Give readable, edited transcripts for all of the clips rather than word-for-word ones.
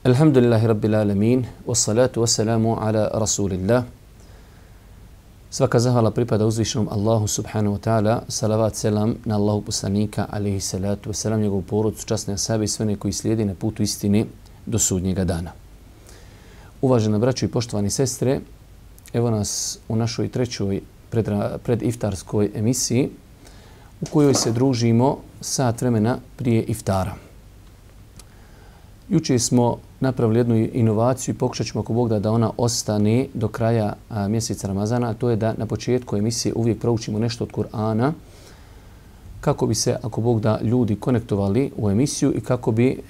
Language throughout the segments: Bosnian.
Alhamdulillahi Rabbil Alamin, wassalatu wassalamu ala Rasulillah. Svaka zahvala pripada uzvišenom Allahu subhanahu wa ta'ala, salavat selam na Allahu poslanika, alaihi salatu wassalam, njegovu porodcu, časne ashabe i sve one koji slijedi na putu istine do sudnjega dana. Uvažena braćo i poštovani sestre, evo nas u našoj trećoj prediftarskoj emisiji u kojoj se družimo sat vremena prije iftara. Juče smo napravili jednu inovaciju i pokušat ćemo ako Bog da ona ostane do kraja mjeseca Ramazana, a to je da na početku emisije uvijek proučimo nešto od Kur'ana kako bi se, ako Bog da, ljudi konektovali u emisiju i kako bi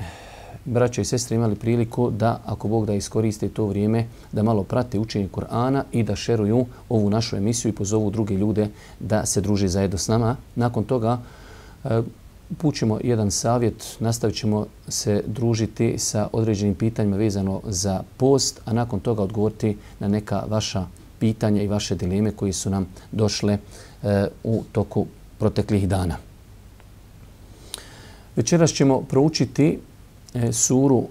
braća i sestre imali priliku da, ako Bog da, iskoriste to vrijeme da malo prate učenje Kur'ana i da šeruju ovu našu emisiju i pozovu druge ljude da se druže zajedno s nama. Nakon toga upućemo jedan savjet, nastavit ćemo se družiti sa određenim pitanjima vezano za post, a nakon toga odgovoriti na neka vaša pitanja i vaše dileme koje su nam došle u toku proteklih dana. Večeras ćemo proučiti suru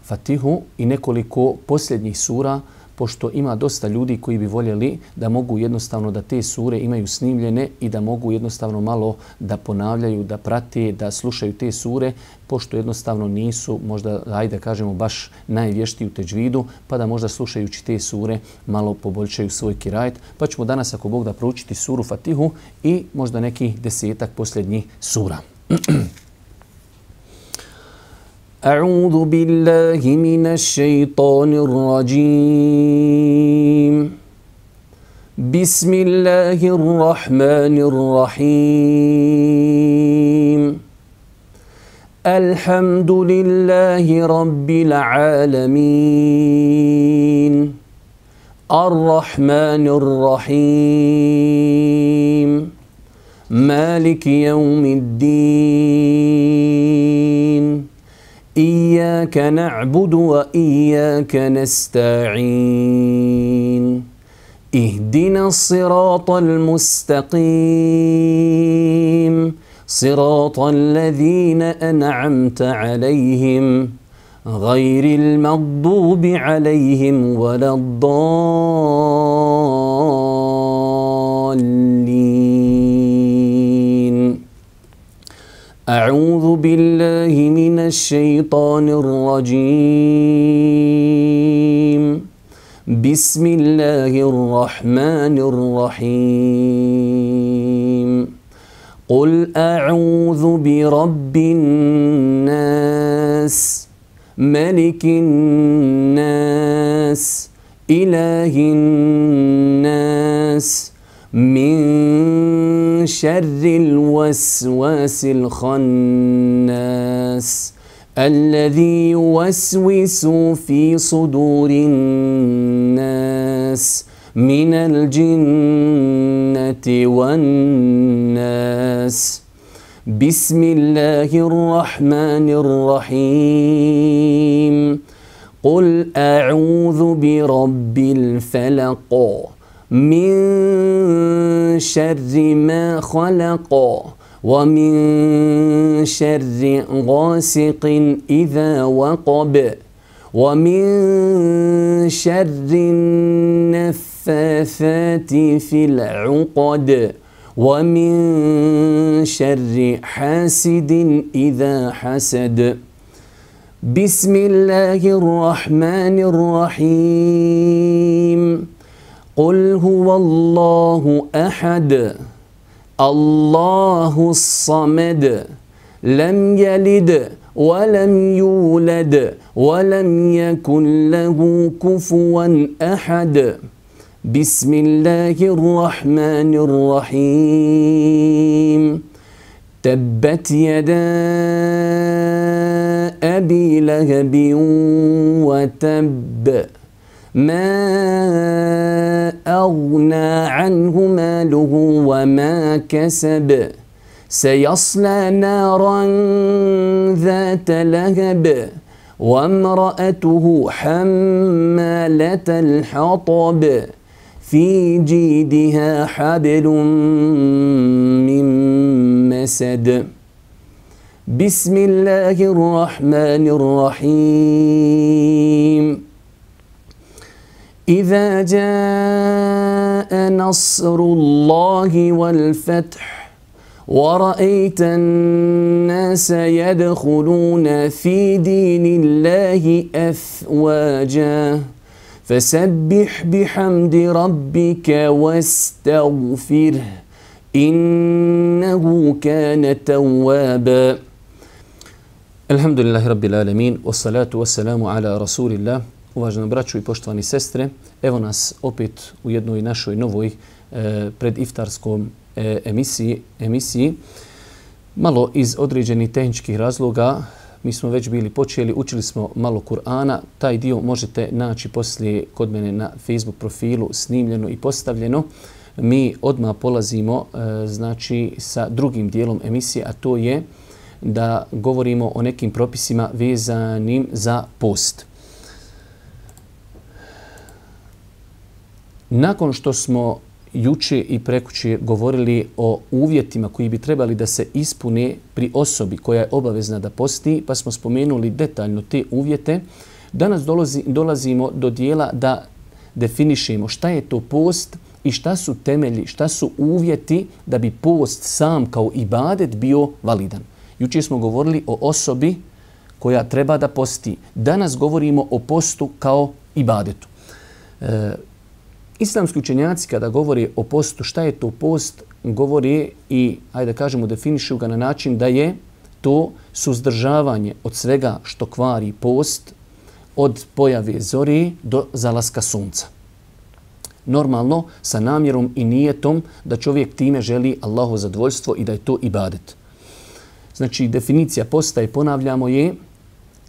Fatihu i nekoliko posljednjih sura, pošto ima dosta ljudi koji bi voljeli da mogu jednostavno da te sure imaju snimljene i da mogu jednostavno malo da ponavljaju, da prate, da slušaju te sure, pošto jednostavno nisu možda, ajde kažemo, baš najvještiji u teđvidu, pa da možda slušajući te sure malo poboljšaju svoj kirajet. Pa ćemo danas, ako Bog da, proučiti suru Fatihu i možda nekih 10 posljednjih sura. أعوذ بالله من الشيطان الرجيم بسم الله الرحمن الرحيم الحمد لله رب العالمين الرحمن الرحيم مالك يوم الدين إياك نعبد وإياك نستعين اهدنا الصراط المستقيم صراط الذين أنعمت عليهم غير المغضوب عليهم ولا الضالين أعوذ بالله من الشيطان الرجيم بسم الله الرحمن الرحيم قل أعوذ برب الناس ملك الناس إله الناس من شر الوسواس الخناس الذي يوسوس في صدور الناس من الجنة والناس بسم الله الرحمن الرحيم قل أعوذ برب الفلق من شر ما خلق ومن شر غاسق إذا وقب ومن شر النفاثات في العقد ومن شر حاسد إذا حسد بسم الله الرحمن الرحيم قل هو الله أحد الله الصمد لم يلد ولم يولد ولم يكن له كفوا أحد بسم الله الرحمن الرحيم تبت يدا أبي لهب وتب ما أغنى عنه ماله وما كسب سيصلى نارا ذات لهب وامرأته حمالة الحطب في جيدها حبل من مسد بسم الله الرحمن الرحيم إذا جاء نصر الله والفتح ورأيت الناس يدخلون في دين الله أفواجا فسبح بحمد ربك واستغفره إنه كان توابا Alhamdulillahi Rabbil Alamin, wassalatu wassalamu ala Rasulillah. Uvaženi braćo i poštovani sestre, evo nas opet u jednoj našoj novoj prediftarskom emisiji. Malo iz određenih tehničkih razloga, mi smo već bili počeli, učili smo malo Kur'ana. Taj dio možete naći poslije kod mene na Facebook profilu snimljeno i postavljeno. Mi odmah polazimo znači sa drugim dijelom emisije, a to je da govorimo o nekim propisima vezanim za post. Nakon što smo juče i prekuče govorili o uvjetima koji bi trebali da se ispune pri osobi koja je obavezna da posti, pa smo spomenuli detaljno te uvjete, danas dolazimo do dijela da definišemo šta je to post i šta su temelji, šta su uvjeti da bi post sam kao ibadet bio validan. Juče smo govorili o osobi koja treba da posti. Danas govorimo o postu kao ibadetu. Islamski učenjaci kada govore o postu, šta je to post, govore i, ajde da kažemo, definišu ga na način da je to suzdržavanje od svega što kvari post, od pojave zore do zalaska sunca. Normalno, sa namjerom i nijetom da čovjek time želi Allahu zadovoljstvo i da je to ibadet. Znači, definicija posta, i ponavljamo, je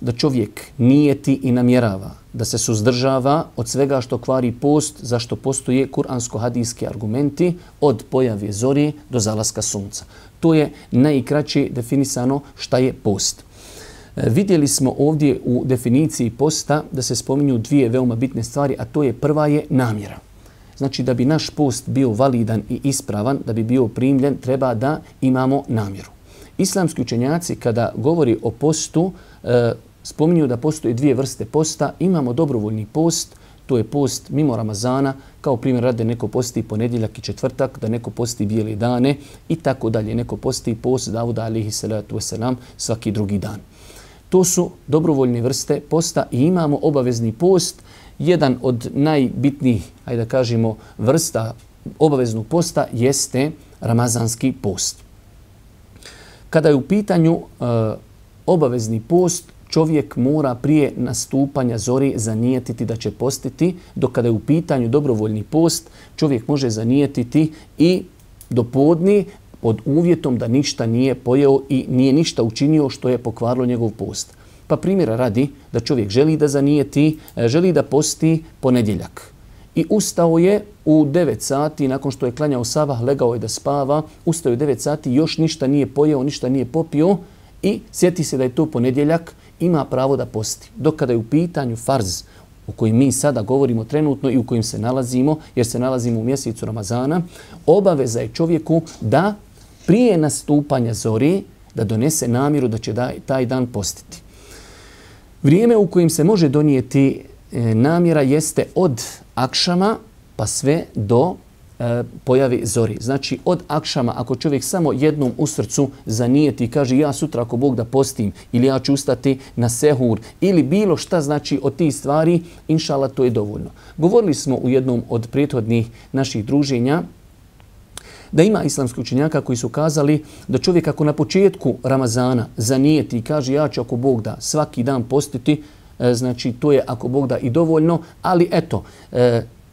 da čovjek nijeti i namjerava, da se suzdržava od svega što kvari post, zašto postoje kuransko-hadijski argumenti od pojave zori do zalaska sunca. To je najkraće definisano šta je post. Vidjeli smo ovdje u definiciji posta da se spominju dvije veoma bitne stvari, a to je prva je namjera. Znači, da bi naš post bio validan i ispravan, da bi bio primljen, treba da imamo namjeru. Islamski učenjaci kada govori o postu spominju da postoje dvije vrste posta. Imamo dobrovoljni post, to je post mimo Ramazana, kao primjer rade neko posti ponedjeljak i četvrtak, da neko posti bijele dane i tako dalje. Neko posti post Davuda alejhi salatu vesselam svaki drugi dan. To su dobrovoljne vrste posta i imamo obavezni post. Jedan od najbitnijih, ajde da kažemo, vrsta obaveznog posta jeste ramazanski post. Kada je u pitanju obavezni post, čovjek mora prije nastupanja zori zanijetiti da će postiti, dok kada je u pitanju dobrovoljni post, čovjek može zanijetiti i do podne pod uvjetom da ništa nije pojeo i nije ništa učinio što je pokvarilo njegov post. Pa primjera radi da čovjek želi da zanijeti, želi da posti ponedjeljak. I ustao je u 9 sati, nakon što je klanjao sabah, legao je da spava, ustao je u 9 sati, još ništa nije pojeo, ništa nije popio i sjeti se da je to ponedjeljak, ima pravo da posti. Dok kada je u pitanju farz, u kojim mi sada govorimo trenutno i u kojim se nalazimo, jer se nalazimo u mjesecu Ramazana, obaveza je čovjeku da prije nastupanja zori da donese namjeru da će taj dan postiti. Vrijeme u kojim se može donijeti namjera jeste od akšama pa sve do pojave zori. Znači od akšama, ako čovjek samo jednom u srcu zanijeti i kaže ja sutra ako Bog da postim ili ja ću ustati na sehur ili bilo šta, znači od tih stvari, inšala, to je dovoljno. Govorili smo u jednom od prethodnih naših druženja da ima islamskih učenjaka koji su kazali da čovjek ako na početku Ramazana zanijeti i kaže ja ću ako Bog da svaki dan postiti, znači to je ako Bog da i dovoljno, ali eto,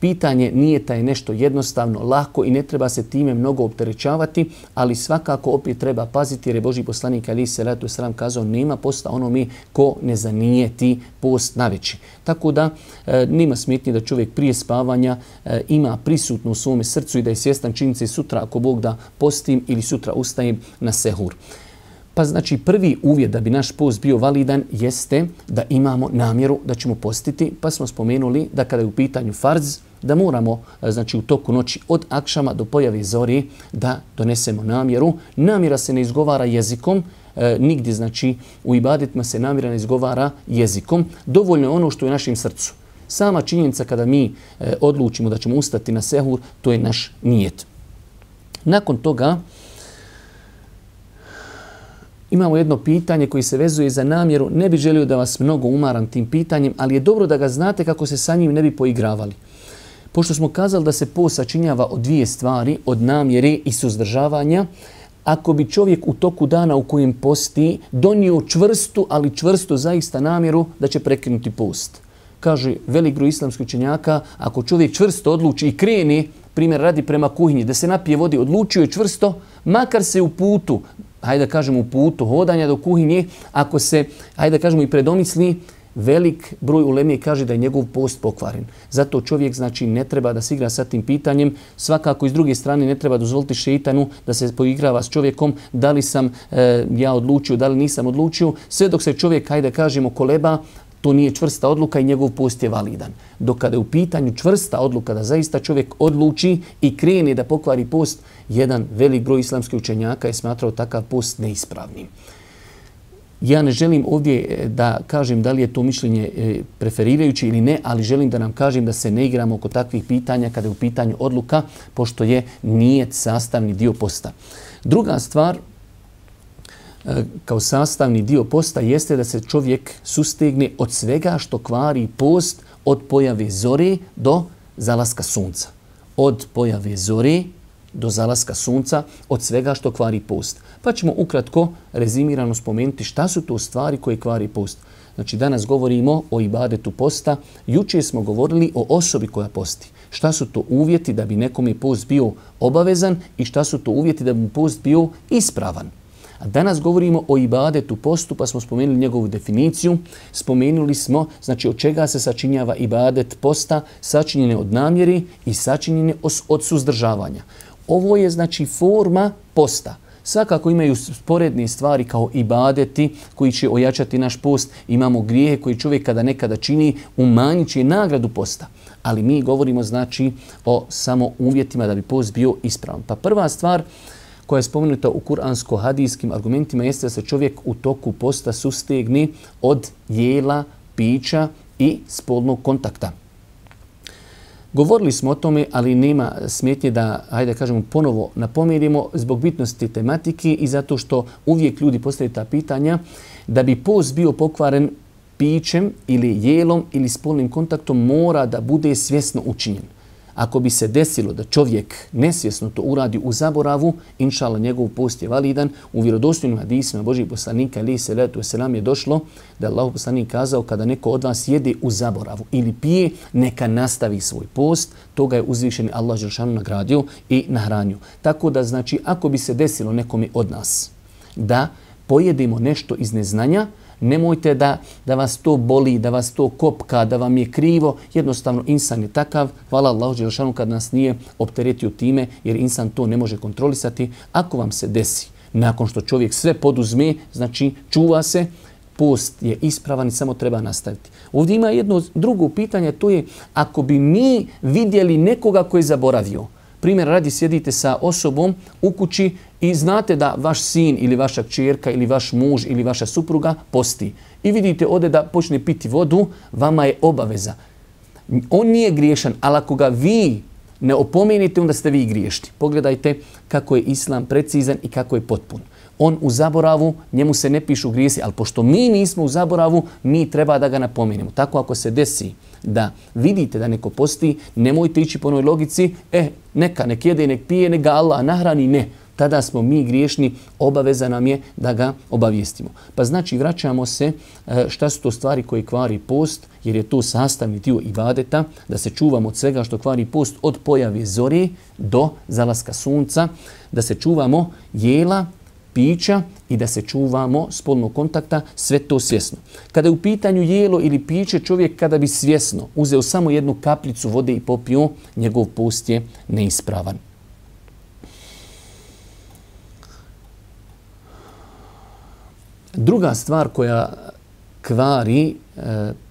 Pitanje nijeta je nešto jednostavno, lako i ne treba se time mnogo opterećavati, ali svakako opet treba paziti jer je Božji poslanik alejhi selatu vesselam kazao nema posta onome ko ne zanijeti post naveći. Tako da nema smetnje da čovjek prije spavanja ima prisutno u svome srcu i da je svjestan činjenice sutra ako Bog da postim ili sutra ustajem na sehur. Pa znači prvi uvjet da bi naš post bio validan jeste da imamo namjeru da ćemo postiti. Pa smo spomenuli da kada je u pitanju farz, da moramo znači u toku noći od akšama do pojave zori da donesemo namjeru. Namjera se ne izgovara jezikom, nigdje znači u ibadetima se namjera ne izgovara jezikom. Dovoljno je ono što je u našem srcu. Sama činjenica kada mi odlučimo da ćemo ustati na sehur, to je naš nijet. Nakon toga imamo jedno pitanje koje se vezuje za namjeru. Ne bih želio da vas mnogo umaram tim pitanjem, ali je dobro da ga znate kako se sa njim ne bi poigravali. Pošto smo kazali da se post sačinjava od dvije stvari, od namjere i suzdržavanja, ako bi čovjek u toku dana u kojem posti donio čvrstu, ali čvrstu zaista namjeru da će prekinuti post. Kaže velik broj islamskih učenjaka, ako čovjek čvrsto odluči i krene, primjer radi prema kuhinji, da se napije vodi, odlučio je čvrsto, makar se u putu, hajde da kažemo u putu hodanja do kuhinje, ako se, hajde da kažemo i predomisli, velik broj uleme kaže da je njegov post pokvaren. Zato čovjek znači ne treba da se igra sa tim pitanjem. Svakako iz druge strane ne treba dozvoliti šejtanu da se poigrava s čovjekom da li sam ja odlučio, da li nisam odlučio. Sve dok se čovjek, hajde da kažemo, koleba, to nije čvrsta odluka i njegov post je validan. Dok kada je u pitanju čvrsta odluka da zaista čovjek odluči i krene da pokvari post, jedan velik broj islamskih učenjaka je smatrao takav post neispravnim. Ja ne želim ovdje da kažem da li je to mišljenje preferirajuće ili ne, ali želim da nam kažem da se ne igramo oko takvih pitanja kada je u pitanju odluka, pošto je nijet sastavni dio posta. Druga stvar, kao sastavni dio posta jeste da se čovjek sustegne od svega što kvari post od pojave zore do zalaska sunca. Od pojave zore do zalaska sunca, od svega što kvari post. Pa ćemo ukratko rezimirano spomenuti šta su to stvari koje kvari post. Znači danas govorimo o ibadetu posta, jučer smo govorili o osobi koja posti. Šta su to uvjeti da bi nekome post bio obavezan i šta su to uvjeti da bi post bio ispravan. A danas govorimo o ibadetu postu, pa smo spomenuli njegovu definiciju. Spomenuli smo znači od čega se sačinjava ibadet posta, sačinjene od namjeri i sačinjene od suzdržavanja. Ovo je znači forma posta. Svakako imaju sporedne stvari kao ibadeti koji će ojačati naš post. Imamo grijehe koji čovjek kada nekada čini umanjit će nagradu posta. Ali mi govorimo znači o samo uvjetima da bi post bio ispravan. Pa prva stvar koja je spomenuta u kuransko-hadijskim argumentima jeste da se čovjek u toku posta sustegne od jela, pića i spolnog kontakta. Govorili smo o tome, ali nema smetnje da, hajde da kažemo, ponovo napomenimo zbog bitnosti tematike i zato što uvijek ljudi postavljaju ta pitanja da bi post bio pokvaren pićem ili jelom ili spolnim kontaktom mora da bude svjesno učinjen. Ako bi se desilo da čovjek nesvjesno to uradi u zaboravu, inšallah njegov post je validan. U vjerodostojnim hadisima Božjeg poslanika alejhi selatu vesselam je došlo da je Allahov poslanik kazao kada neko od vas jede u zaboravu ili pije, neka nastavi svoj post. Toga je uzvišeni Allah dželešanu nagradio i nahranio. Tako da znači ako bi se desilo nekome od nas da pojedemo nešto iz neznanja, nemojte da vas to boli, da vas to kopka, da vam je krivo. Jednostavno, insan je takav. Hvala Allahu dželešanu kad nas nije opteretio time, jer insan to ne može kontrolisati. Ako vam se desi, nakon što čovjek sve poduzme, znači čuva se, post je ispravan i samo treba nastaviti. Ovdje ima jedno drugo pitanje, to je ako bi mi vidjeli nekoga koji je zaboravio. Primjer, radi sjedite sa osobom u kući i znate da vaš sin ili vaša kćerka ili vaš muž ili vaša supruga posti. I vidite ode da počne piti vodu, vama je obaveza. On nije griješan, ali ako ga vi ne opomenite, onda ste vi griješni. Pogledajte kako je islam precizan i kako je potpun. On u zaboravu, njemu se ne pišu grijesi, ali pošto mi nismo u zaboravu, mi treba da ga napomenemo. Tako ako se desi da vidite da neko posti, nemojte ići po onoj logici, nek jede, nek pije, nek ga Allah nahrani, ne. tada smo mi griješni, obaveza nam je da ga obavijestimo. Pa znači vraćamo se šta su to stvari koje kvari post, jer je to sastavni dio ibadeta, da se čuvamo od svega što kvari post od pojave zore do zalaska sunca, da se čuvamo jela, pića i da se čuvamo spolnog kontakta, sve to svjesno. Kada je u pitanju jelo ili piće, čovjek kada bi svjesno uzeo samo jednu kapljicu vode i popio, njegov post je neispravan. Druga stvar koja kvari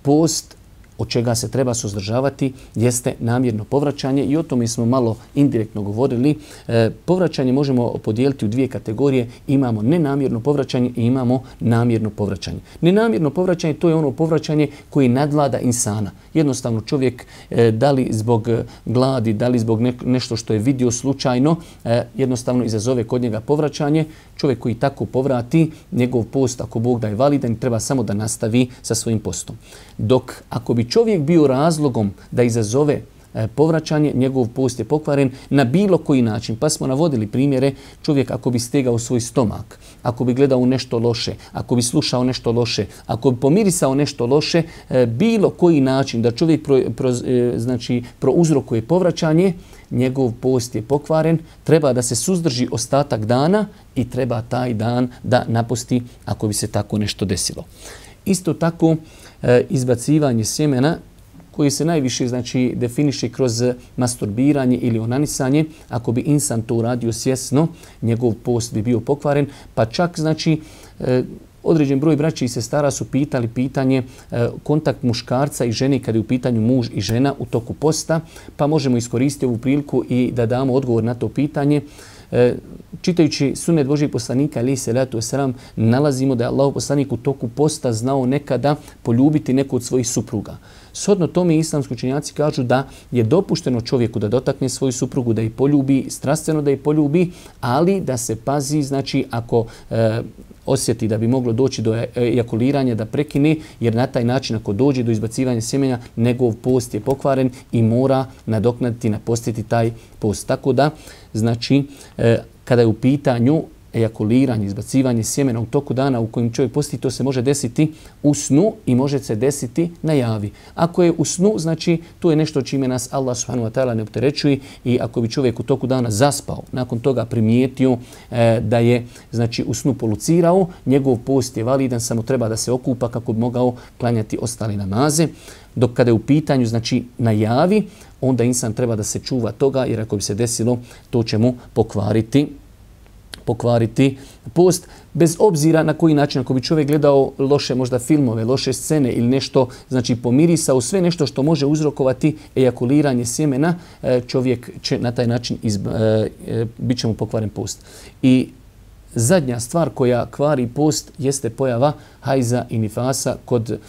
post, od čega se treba suzdržavati, jeste namjerno povraćanje i o tome smo malo indirektno govorili. Povraćanje možemo podijeliti u dvije kategorije. Imamo nenamjerno povraćanje i imamo namjerno povraćanje. Nenamjerno povraćanje, to je ono povraćanje koje nadvlada insana. Jednostavno čovjek, da li zbog gladi, da li zbog nešto što je vidio slučajno, jednostavno izazove kod njega povraćanje. Čovjek koji tako povrati, njegov post, ako Bog da je validan, treba samo da nastavi sa svojim postom. Dok ako bi čovjek bio razlogom da izazove povraćanje, njegov post je pokvaren na bilo koji način. Pa smo navodili primjere, čovjek ako bi stegao svoj stomak, ako bi gledao nešto loše, ako bi slušao nešto loše, ako bi pomirisao nešto loše, bilo koji način da čovjek prouzrokuje povraćanje, njegov post je pokvaren, treba da se suzdrži ostatak dana i treba taj dan da napusti ako bi se tako nešto desilo. Isto tako, izbacivanje sjemena koji se najviše definiše kroz masturbiranje ili onanisanje, ako bi insan to uradio svjesno, njegov post bi bio pokvaren, pa čak određen broj braća i sestara su pitali pitanje kontakt muškarca i žene kada je u pitanju muž i žena u toku posta, pa možemo iskoristiti ovu priliku i da damo odgovor na to pitanje. Čitajući sunet Božijeg poslanika alejhi selatu vesselam, nalazimo da je Allahov poslanik u toku posta znao nekada poljubiti neku od svojih supruga. Shodno tome islamski učenjaci kažu da je dopušteno čovjeku da dotakne svoju suprugu, da je poljubi, strastveno da je poljubi, ali da se pazi, ako osjeti da bi moglo doći do ejakuliranja, da prekine, jer na taj način ako dođe do izbacivanja sjemenja, njegov post je pokvaren i mora nadoknaditi, napostiti taj post. Tako da, kada je u pitanju ejakuliranje, izbacivanje sjemena u toku dana u kojem čovjek posti, to se može desiti u snu i može se desiti na javi. Ako je u snu, to je nešto čime nas Allah subhanahu wa ta'ala ne opterećuje, i ako bi čovjek u toku dana zaspao, nakon toga primijetio da je u snu polucirao, njegov post je validan, samo treba da se okupa kako bi mogao klanjati ostale namaze. Dok kada je u pitanju na javi, onda insan treba da se čuva toga, jer ako bi se desilo, to će mu pokvariti post, bez obzira na koji način. Ako bi čovjek gledao loše možda filmove, loše scene ili nešto, pomirisao sve nešto što može uzrokovati ejakuliranje sjemena, čovjek će na taj način bit će mu pokvaren post. I zadnja stvar koja kvari post jeste pojava hajza i nifasa kod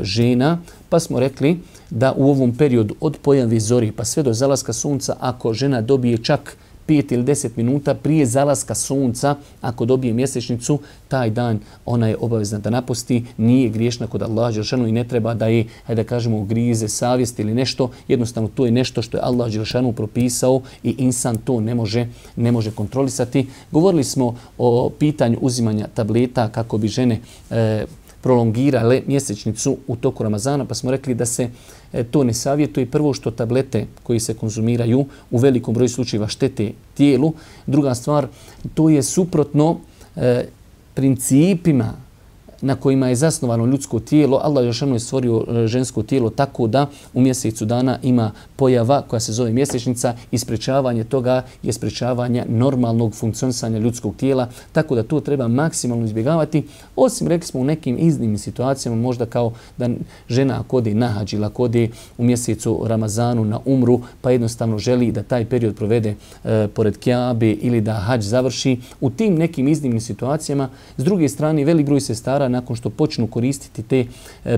žena, pa smo rekli da u ovom periodu od pojave zori pa sve do zalaska sunca, ako žena dobije čak 5 ili 10 minuta prije zalaska sunca, ako dobije mjesečnicu, taj dan ona je obavezna da napusti, nije griješna kod Allaha dželešanu i ne treba da je, da kažemo, grize savjest ili nešto. Jednostavno to je nešto što je Allah dželešanu propisao i insan to ne može kontrolisati. Govorili smo o pitanju uzimanja tableta kako bi žene prolongirale mjesečnicu u toku Ramazana, pa smo rekli da se to ne savjetuje. Prvo, što tablete koji se konzumiraju u velikom broju slučajeva štete tijelu. Druga stvar, to je suprotno principima na kojima je zasnovano ljudsko tijelo. Allah je stvorio žensko tijelo tako da u mjesecu dana ima pojava koja se zove mjesečnica i sprečavanje toga je sprečavanje normalnog funkcionisanja ljudskog tijela, tako da to treba maksimalno izbjegavati. Osim, rekli smo, u nekim iznimnim situacijama, možda kao da žena ako ode na hadž ili ako ode u mjesecu Ramazanu na umru, pa jednostavno želi da taj period provede pored Kjabe ili da hadž završi. U tim nekim iznimnim situacijama, s druge strane, velik broj sestara nakon što počnu koristiti te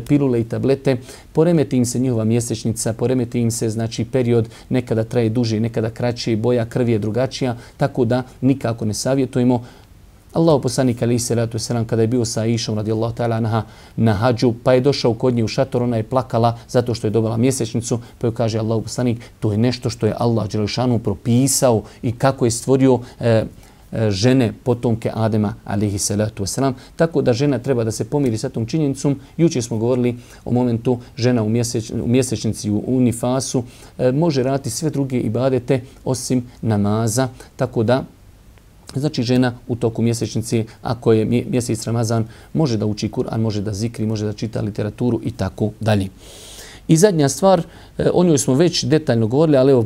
pilule i tablete, poremeti im se njihova mjesečnica, poremeti im se period, nekada traje duže, nekada kraće, boja krvi je drugačija, tako da nikako ne savjetujemo. Allahov poslanik alejhi selatu vesselam kada je bio sa Aishom radijallahu ta'ala anha na hadžu, pa je došao kod nje u šator, ona je plakala zato što je dobila mjesečnicu, pa joj kaže Allahov poslanik, to je nešto što je Allah dželešanu propisao i kako je stvorio žene potomke Adema alejhi salatu vesselam, tako da žena treba da se pomiri sa tom činjenicom. Jučer smo govorili o momentu žena u mjesečnici u nifasu može raditi sve druge ibadete osim namaza, tako da znači žena u toku mjesečnice, ako je mjesec Ramazan, može da uči Kur'an, može da zikri, može da čita literaturu i tako dalje. I zadnja stvar, o njoj smo već detaljno govorili, ali evo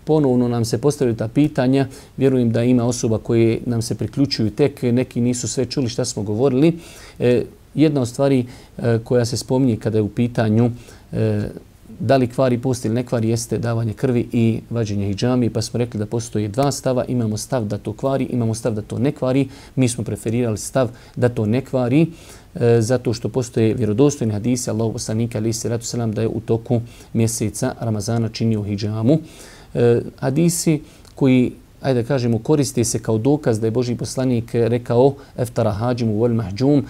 ponovno nam se postavljaju ta pitanja. Vjerujem da ima osoba koje nam se priključuju tek, neki nisu sve čuli šta smo govorili. Jedna od stvari koja se spominje kada je u pitanju da li kvari post ili ne kvari jeste davanje krvi i vađenje hidžami, pa smo rekli da postoji dva stava. Imamo stav da to kvari, imamo stav da to ne kvari. Mi smo preferirali stav da to ne kvari, zato što postoje vjerodostojni hadisi Allahovog poslanika alejhi salatu selam da je u toku mjeseca Ramazana činio hidžamu. Hadisi koji, ajde da kažemo, koriste se kao dokaz da je Božji poslanik rekao eftara hađimu wal mahđum,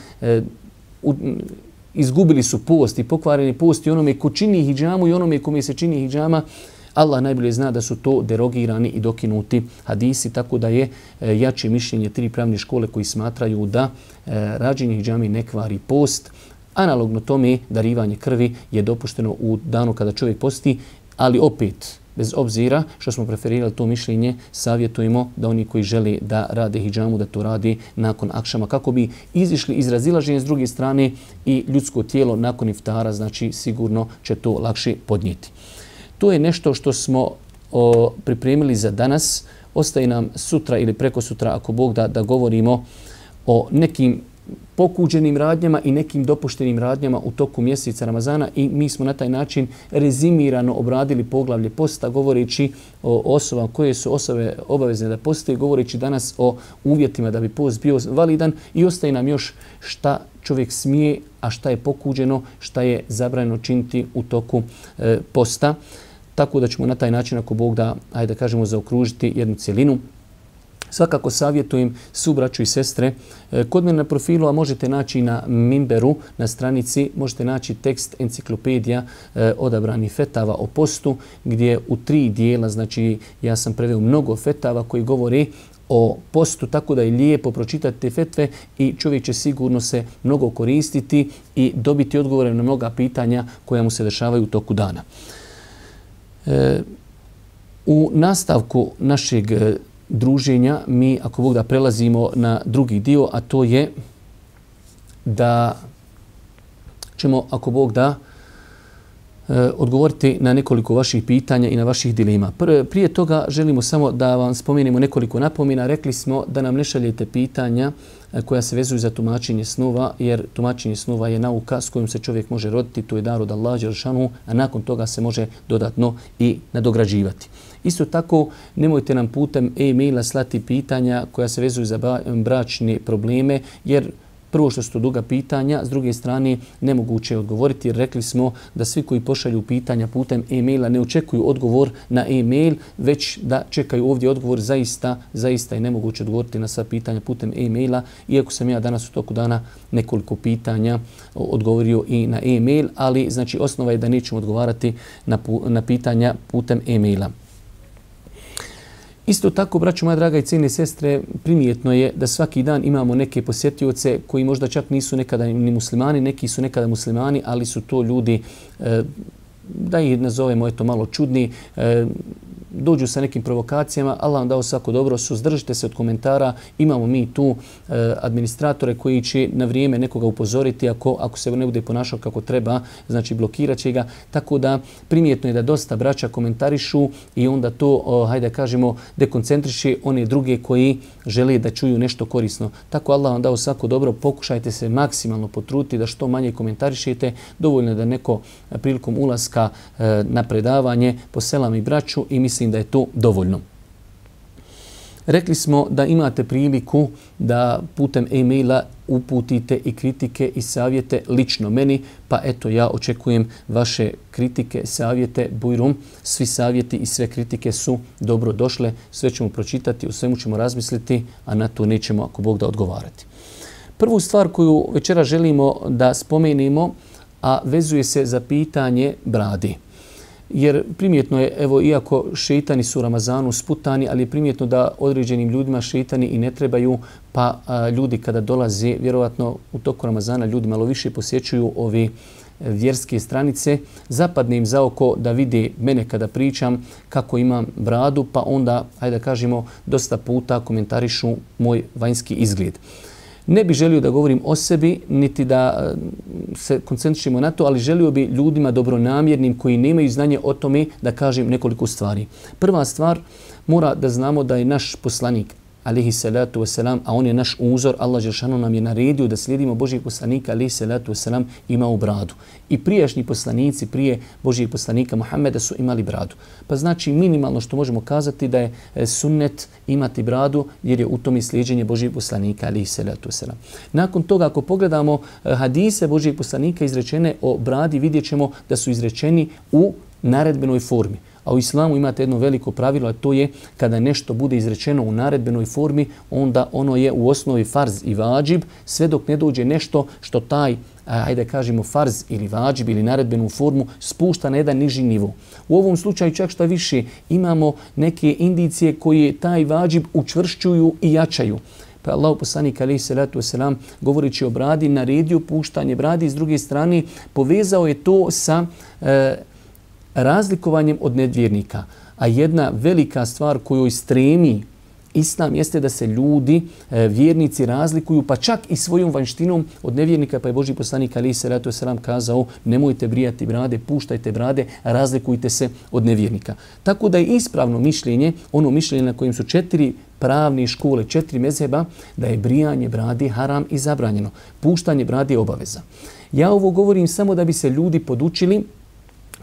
izgubili su post i pokvareni post i onome ko čini hidžamu i onome kome se čini hidžama. Allah najbolje zna da su to derogirani i dokinuti hadisi, tako da je jače mišljenje tri pravne škole koji smatraju da rađenje hidžami ne kvari post. Analogno tome darivanje krvi je dopušteno u danu kada čovjek posti, ali opet, bez obzira što smo preferirali to mišljenje, savjetujemo da oni koji žele da rade hidžamu, da to rade nakon akšama, kako bi izišli iz razilaženja s druge strane i ljudsko tijelo nakon iftara, znači sigurno će to lakše podnijeti. To je nešto što smo pripremili za danas. Ostaje nam sutra ili preko sutra, ako Bog da govorimo o nekim pokuđenim radnjama i nekim dopuštenim radnjama u toku mjeseca Ramazana i mi smo na taj način rezimirano obradili poglavlje posta, govoreći o osobama koje su osobe obavezne da poste, govoreći danas o uvjetima da bi post bio validan i ostaje nam još šta čovjek smije, a šta je pokuđeno, šta je zabranjeno činiti u toku posta. Tako da ćemo na taj način, ako Bog da, ajde da kažemo, zaokružiti jednu cjelinu. Svakako savjetujem svu braću i sestre. Kod mene na profilu, a možete naći na Minberu, na stranici, možete naći tekst enciklopedija odabranih fetava o postu, gdje u 3 dijela, znači ja sam preveo mnogo fetava koji govore o postu, tako da je lijepo pročitati te fetve i čovjek će sigurno se mnogo koristiti i dobiti odgovore na mnoga pitanja koja mu se dešavaju u toku dana. U nastavku našeg druženja mi, ako Bog da, prelazimo na drugi dio, a to je da ćemo, ako Bog da, odgovoriti na nekoliko vaših pitanja i na vaših dilema. Prije toga želimo samo da vam spomenemo nekoliko napomena. Rekli smo da nam ne šaljete pitanja koja se vezuju za tumačenje snova, jer tumačenje snova je nauka s kojom se čovjek može roditi, to je dar od Allaha dželle šanuhu, a nakon toga se može dodatno i nadograđivati. Isto tako, nemojte nam putem e-maila slati pitanja koja se vezuju za bračne probleme, jer prvo što su to duga pitanja, s druge strane nemoguće je odgovoriti, jer rekli smo da svi koji pošalju pitanja putem e-maila ne očekuju odgovor na e-mail, već da čekaju ovdje odgovor. Zaista je nemoguće odgovoriti na sva pitanja putem e-maila, iako sam ja danas u toku dana nekoliko pitanja odgovorio i na e-mail, ali znači osnova je da nećemo odgovarati na pitanja putem e-maila. Isto tako, braćo moja draga i cijene sestre, primijetno je da svaki dan imamo neke posjetioce koji možda čak nisu nekada ni muslimani, neki su nekada muslimani, ali su to ljudi, da ih nazovemo eto malo čudni, dođu sa nekim provokacijama. Allah vam dao svako dobro, suzdržite se od komentara. Imamo mi tu administratore koji će na vrijeme nekoga upozoriti ako se ne bude ponašao kako treba, znači blokirat će ga. Tako da primjetno je da dosta braća komentarišu i onda to, hajde kažemo, dekoncentriše one druge koji žele da čuju nešto korisno. Tako Allah vam dao svako dobro, pokušajte se maksimalno potruditi da što manje komentarišete. Dovoljno je da neko prilikom ulaska na predavanje poselami braću i mislim da je to dovoljno. Rekli smo da imate priliku da putem e-maila uputite i kritike i savjete lično meni, pa eto ja očekujem vaše kritike, savjete, bujrum. Svi savjeti i sve kritike su dobro došle, sve ćemo pročitati, o svemu ćemo razmisliti, a na to nećemo, ako Bog da, odgovarati. Prvu stvar koju večera želimo da spomenemo, a vezuje se za pitanje brade. jer primjetno je, evo, iako šeitani su u Ramazanu sputani, ali je primjetno da određenim ljudima šeitani i ne trebaju, pa ljudi kada dolaze, vjerovatno u toku Ramazana ljudi malo više posjećuju ove vjerske stranice, zapadne im za oko da vide mene kada pričam kako imam bradu, pa onda, hajde da kažemo, dosta puta komentarišu moj vanjski izgled. Ne bih želio da govorim o sebi, niti da se koncentrišemo na to, ali želio bi ljudima dobronamjernim koji nemaju znanje o tome da kažem nekoliko stvari. Prva stvar, mora da znamo da je naš poslanik, alejhi salatu vesselam, a on je naš uzor, Allah dželešanu nam je naredio da slijedimo Božjeg poslanika, alejhi salatu vesselam, imao bradu. I prijašnji poslanici prije Božjeg poslanika Muhameda su imali bradu. Pa znači minimalno što možemo kazati da je sunnet imati bradu, jer je u tome slijeđenje Božjeg poslanika, alejhi salatu vesselam. Nakon toga, ako pogledamo hadise Božjeg poslanika izrečene o bradi, vidjet ćemo da su izrečeni u naredbenoj formi. A u islamu imate jedno veliko pravilo, a to je kada nešto bude izrečeno u naredbenoj formi, onda ono je u osnovi farz i vađib, sve dok ne dođe nešto što taj, hajde kažemo, farz ili vađib ili naredbenu formu spušta na jedan niži nivo. U ovom slučaju čak što više imamo neke indicije koje taj vađib učvršćuju i jačaju. Pa Allahu poslanik alejhi salatu vesselam govoreći o bradi naredio puštanje bradi, s druge strane povezao je to sa razlikovanjem od nevjernika. A jedna velika stvar kojoj stremi Islam jeste da se ljudi, vjernici, razlikuju, pa čak i svojom vanjštinom od nevjernika, pa je Božji poslanik alejhi salatu vesselam kazao: nemojte brijati brade, puštajte brade, razlikujte se od nevjernika. Tako da je ispravno mišljenje, ono mišljenje na kojem su 4 pravne škole, 4 mezheba, da je brijanje brade haram i zabranjeno. Puštanje brade je obaveza. Ja ovo govorim samo da bi se ljudi podučili.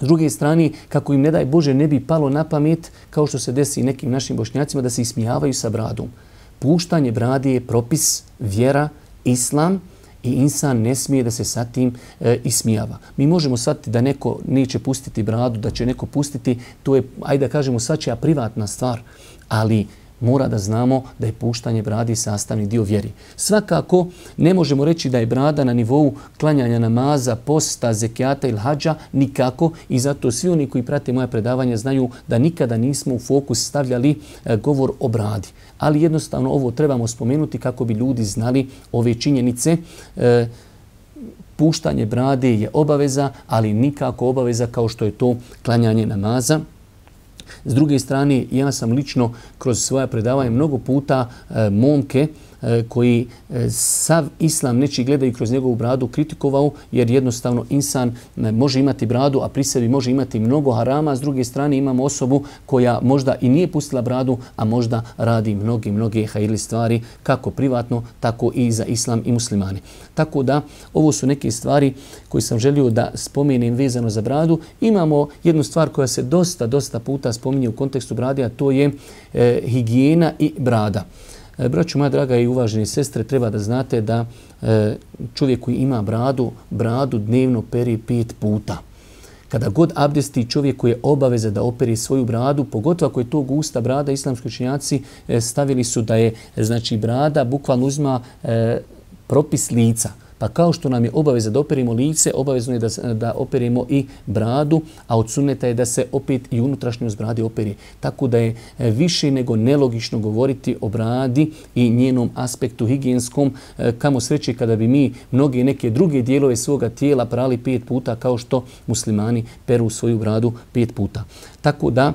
S druge strane, kako im ne daj Bože ne bi palo na pamet, kao što se desi nekim našim Bošnjacima, da se ismijavaju sa bradom. Puštanje brade je propis, vjera, islam i insan ne smije da se sa tim ismijava. Mi možemo shvatiti da neko neće pustiti bradu, da će neko pustiti, to je, ajde da kažemo, svačija privatna stvar, ali mora da znamo da je puštanje bradi sastavni dio vjeri. Svakako ne možemo reći da je brada na nivou klanjanja namaza, posta, zekijata ili hadža, nikako, i zato svi oni koji prate moja predavanja znaju da nikada nismo u fokus stavljali govor o bradi. Ali jednostavno ovo trebamo spomenuti kako bi ljudi znali ove činjenice. Puštanje brade je obaveza, ali nikako obaveza kao što je to klanjanje namaza. S druge strane, ja sam lično kroz svoja predavanja mnogo puta momke koji sav islam nečiji gledaju kroz njegovu bradu kritikovao, jer jednostavno insan može imati bradu, a pri sebi može imati mnogo harama. S druge strane imamo osobu koja možda i nije pustila bradu, a možda radi mnoge hajirli stvari, kako privatno, tako i za islam i muslimani. Tako da, ovo su neke stvari koje sam želio da spomenem vezano za bradu. Imamo jednu stvar koja se dosta puta spominje u kontekstu brade, a to je higijena i brada. Braćo moja draga i uvaženi sestre, treba da znate da čovjek koji ima bradu dnevno peri 5 puta. Kada god abdesti, čovjeku je obaveza da operi svoju bradu, pogotovo ako je to gusta brada, islamski učenjaci stavili su da je, znači, brada bukvalno uzima propis lica. Pa kao što nam je obaveza da operimo lice, obavezno je da operimo i bradu, a od sunneta je da se opet i unutrašnjost brade operi. Tako da je više nego nelogično govoriti o bradi i njenom aspektu higijenskom. Kamo sreće kada bi mi mnoge neke druge dijelove svoga tijela prali 5 puta kao što muslimani peru svoju bradu 5 puta. Tako da